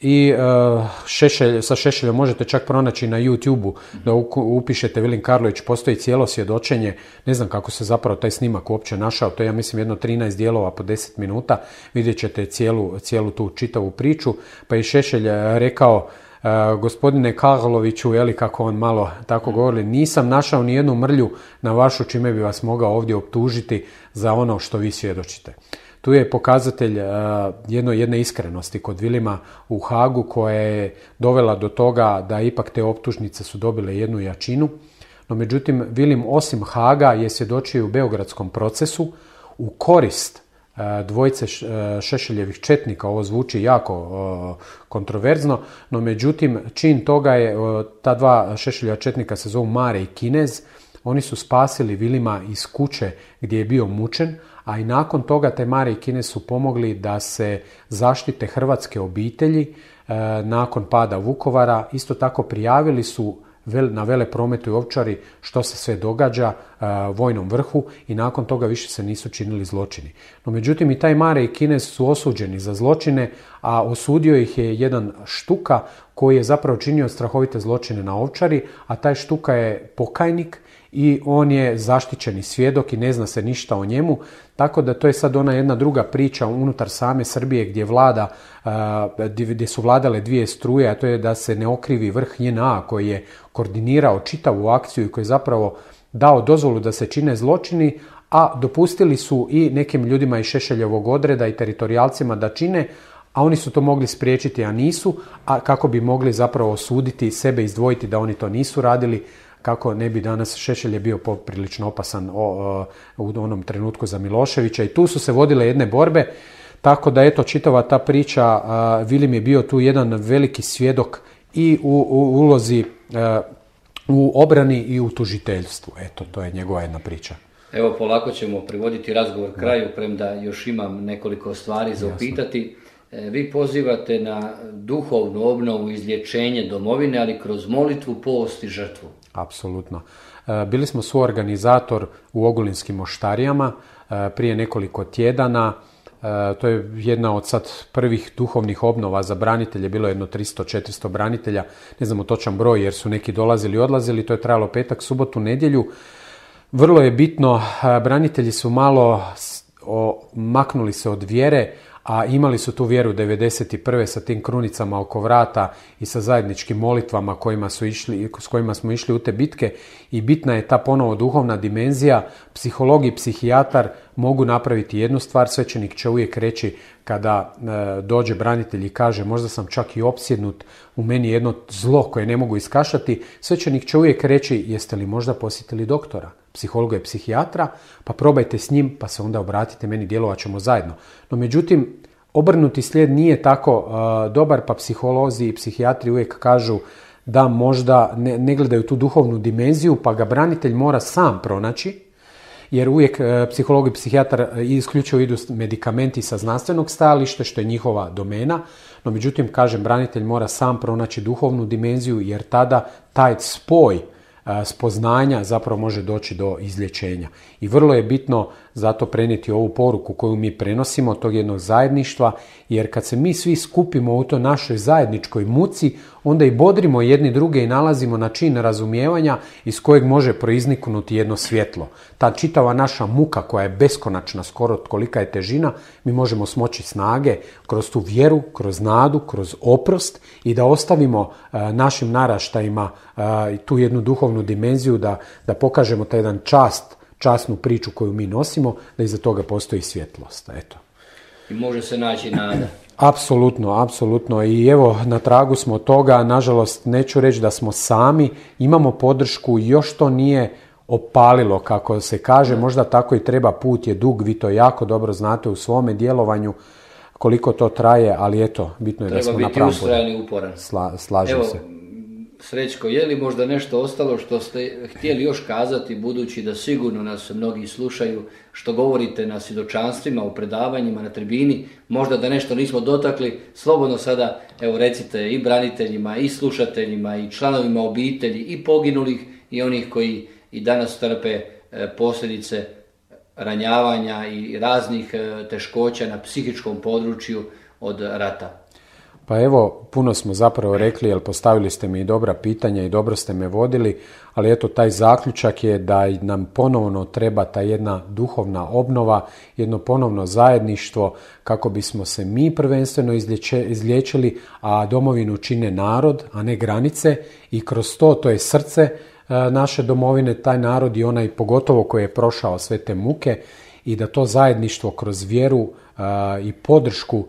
I uh, Šešelj, sa Šešeljom možete čak pronaći na YouTube-u da upišete Vilim Karlović, postoji cijelo svjedočenje, ne znam kako se zapravo taj snimak uopće našao, to je ja mislim jedno trinaest dijelova po deset minuta, vidjet ćete cijelu, cijelu tu čitavu priču, pa je Šešelj rekao, uh, gospodine Karloviću, jeli kako on malo tako govori, nisam našao ni jednu mrlju na vašu čime bi vas mogao ovdje optužiti za ono što vi svjedočite. Tu je pokazatelj uh, jedno, jedne iskrenosti kod Vilima u Hagu koja je dovela do toga da ipak te optužnice su dobile jednu jačinu. No međutim, Vilim osim Haga je svjedočio u beogradskom procesu u korist uh, dvojice Šešeljevih četnika. Ovo zvuči jako uh, kontroverzno, no međutim čin toga je, uh, ta dva Šešeljeva četnika se zovu Mare i Kinez. Oni su spasili Vilima iz kuće gdje je bio mučen, a i nakon toga te Mare i Kinez su pomogli da se zaštite hrvatske obitelji e, nakon pada Vukovara. Isto tako prijavili su vel, na Veleprometu i Ovčari što se sve događa e, vojnom vrhu i nakon toga više se nisu činili zločini. No međutim i taj Mare i Kinez su osuđeni za zločine, a osudio ih je jedan Štuka koji je zapravo činio strahovite zločine na Ovčari, a taj Štuka je pokajnik i on je zaštićeni svjedok i ne zna se ništa o njemu, tako da to je sad ona jedna druga priča unutar same Srbije gdje vlada, gdje su vladale dvije struje, a to je da se ne okrivi vrh J N A koji je koordinirao čitavu akciju i koji je zapravo dao dozvolu da se čine zločini, a dopustili su i nekim ljudima iz Šešeljevog odreda i teritorijalcima da čine, a oni su to mogli spriječiti, a nisu, a kako bi mogli zapravo osuditi sebe, izdvojiti da oni to nisu radili, kako ne bi danas Šešelj je bio poprilično opasan o, o, u onom trenutku za Miloševića i tu su se vodile jedne borbe, tako da eto čitava ta priča, a, Vilim je bio tu jedan veliki svjedok i u, u ulozi a, u obrani i u tužiteljstvu, eto to je njegova jedna priča. Evo polako ćemo privoditi razgovor kraju, premda još imam nekoliko stvari za upitati. Vi pozivate na duhovnu obnovu, izlječenje domovine, ali kroz molitvu, post i žrtvu. Apsolutno. Bili smo suorganizator u Ogulinskim moštarijama prije nekoliko tjedana. To je jedna od sad prvih duhovnih obnova za branitelje, bilo je jedno tristo četiristo branitelja, ne znamo točan broj jer su neki dolazili i odlazili, to je trajalo petak, subotu, nedjelju. Vrlo je bitno, branitelji su malo maknuli se od vjere, a imali su tu vjeru devedeset prve sa tim krunicama oko vrata i sa zajedničkim molitvama kojima su išli, s kojima smo išli u te bitke i bitna je ta ponovo duhovna dimenzija. Psiholog i psihijatar mogu napraviti jednu stvar, svećenik će uvijek reći kada e, dođe branitelj i kaže možda sam čak i opsjednut, u meni je jedno zlo koje ne mogu iskašati, svećenik će uvijek reći jeste li možda posjetili doktora, psihologa i psihijatra, pa probajte s njim, pa se onda obratite meni, djelovat ćemo zajedno. No međutim, obrnuti slijed nije tako uh, dobar, pa psiholozi i psihijatri uvijek kažu da možda ne, ne gledaju tu duhovnu dimenziju, pa ga branitelj mora sam pronaći, jer uvijek uh, psiholog i psihijatar isključivo idu medikamenti sa znanstvenog stajališta, što je njihova domena, no međutim, kažem, branitelj mora sam pronaći duhovnu dimenziju, jer tada taj spoj spoznanja zapravo može doći do izlječenja. I vrlo je bitno zato prenijeti ovu poruku koju mi prenosimo od tog jednog zajedništva, jer kad se mi svi skupimo u toj našoj zajedničkoj muci, onda i bodrimo jedni druge i nalazimo način razumijevanja iz kojeg može proizniknuti jedno svjetlo. Ta čitava naša muka koja je beskonačna, skoro kolika je težina, mi možemo smoći snage kroz tu vjeru, kroz nadu, kroz oprost i da ostavimo uh, našim naraštajima uh, tu jednu duhovnu dimenziju, da, da pokažemo taj jedan čast, časnu priču koju mi nosimo, da iza toga postoji svjetlost. Eto. I može se naći nada. Apsolutno, apsolutno. I evo, na tragu smo toga. Nažalost, neću reći da smo sami. Imamo podršku, još to nije opalilo, kako se kaže. Možda tako i treba, put je dug, vi to jako dobro znate u svome djelovanju koliko to traje, ali eto, bitno je treba da smo na pravom putu. Treba biti ustrajan i uporan. Sla, slažem evo, se. Srećko, je li možda nešto ostalo što ste htjeli još kazati, budući da sigurno nas mnogi slušaju, što govorite na svjedočanstvima, u predavanjima, na tribini, možda da nešto nismo dotakli, slobodno sada evo recite i braniteljima, i slušateljima, i članovima obitelji, i poginulih, i onih koji i danas trpe posljedice ranjavanja i raznih teškoća na psihičkom području od rata. Pa evo, puno smo zapravo rekli, jer postavili ste mi i dobra pitanja i dobro ste me vodili, ali eto taj zaključak je da nam ponovno treba ta jedna duhovna obnova, jedno ponovno zajedništvo kako bismo se mi prvenstveno izliječili, a domovinu čine narod, a ne granice, i kroz to, to je srce naše domovine, taj narod i onaj pogotovo koji je prošao sve te muke, i da to zajedništvo kroz vjeru i podršku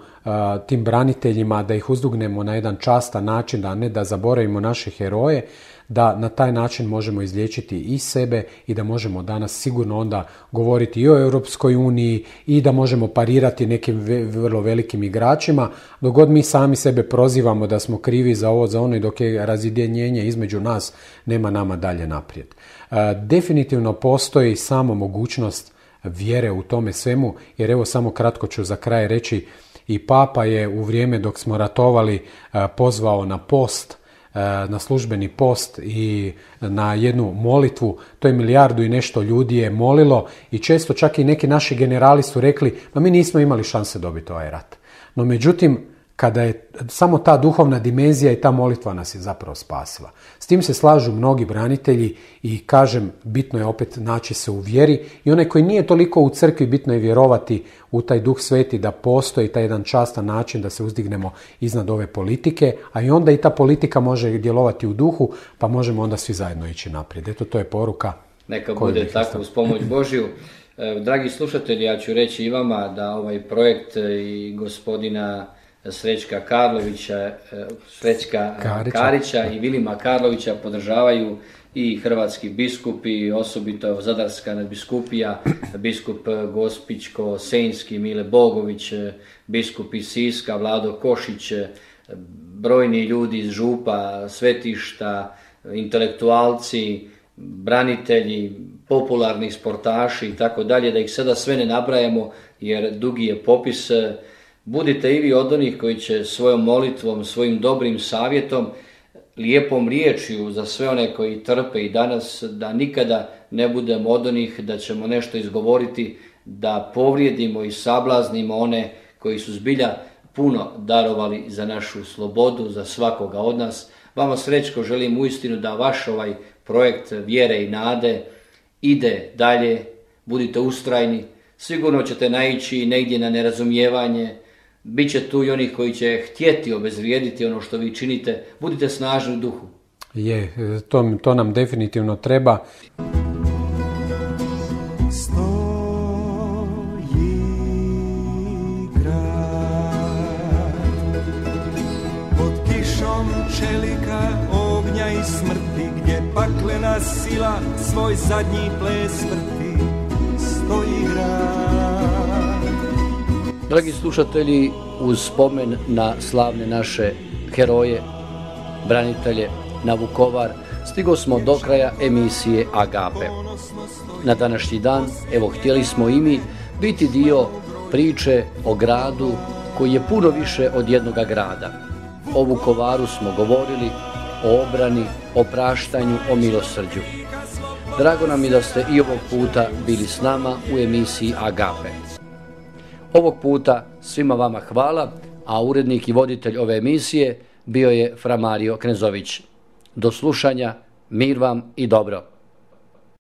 tim braniteljima, da ih uzdugnemo na jedan častan način, a ne da zaboravimo naše heroje, da na taj način možemo izliječiti i sebe i da možemo danas sigurno onda govoriti i o Europskoj uniji i da možemo parirati nekim vrlo velikim igračima, dok god mi sami sebe prozivamo da smo krivi za ovo, za ono, i dok je razjedinjenje između nas, nema nama dalje naprijed. Definitivno postoji samo mogućnost vjere u tome svemu, jer evo samo kratko ću za kraj reći, i Papa je u vrijeme dok smo ratovali pozvao na post, na službeni post i na jednu molitvu. To je milijardu i nešto ljudi je molilo i često čak i neki naši generali su rekli, pa mi nismo imali šanse dobiti ovaj rat. No međutim, kada je samo ta duhovna dimenzija i ta molitva nas je zapravo spasila. S tim se slažu mnogi branitelji i kažem, bitno je opet naći se u vjeri, i onaj koji nije toliko u crkvi, bitno je vjerovati u taj Duh Sveti, da postoji taj jedan častan način da se uzdignemo iznad ove politike, a i onda i ta politika može djelovati u duhu, pa možemo onda svi zajedno ići naprijed. Eto, to je poruka. Neka bude tako uz pomoć Božju. Dragi slušatelji, ja ću reći i vama da ovaj projekt i gospodina Srećka Karlovića, Srećka Karića. Karića i Vilima Karlovića podržavaju i hrvatski biskupi, osobito Zadarska nadbiskupija, biskup Gospićko-Senjski Mile Bogović, biskup iz Siska Vlado Košić, brojni ljudi iz župa, svetišta, intelektualci, branitelji, popularni sportaši i tako dalje, da ih sada sve ne nabrajamo jer dugi je popis. Budite i vi od onih koji će svojom molitvom, svojim dobrim savjetom, lijepom riječju za sve one koji trpe i danas, da nikada ne budemo od onih da ćemo nešto izgovoriti, da povrijedimo i sablaznimo one koji su zbilja puno darovali za našu slobodu, za svakoga od nas. Vama, Srećko, želim uistinu da vaš ovaj projekt vjere i nade ide dalje, budite ustrajni, sigurno ćete naići negdje na nerazumijevanje, Biće tu i onih koji će htjeti obezvrijediti ono što vi činite. Budite snažni u duhu. Je, to, to nam definitivno treba. Stoji grad pod kišom čelika, ognja i smrti, gdje paklena sila svoj zadnji ples vrti. Stoji grad. Dragi slušatelji, uz spomen na slavne naše heroje, branitelje, na Vukovar, stigo smo do kraja emisije Agape. Na današnji dan, evo, htjeli smo i mi biti dio priče o gradu koji je puno više od jednoga grada. O Vukovaru smo govorili, o obrani, o praštanju, o milosrđu. Drago nam je da ste i ovog puta bili s nama u emisiji Agape. Ovog puta svima vama hvala, a urednik i voditelj ove emisije bio je Fra Mario Knezović. Do slušanja, mir vam i dobro.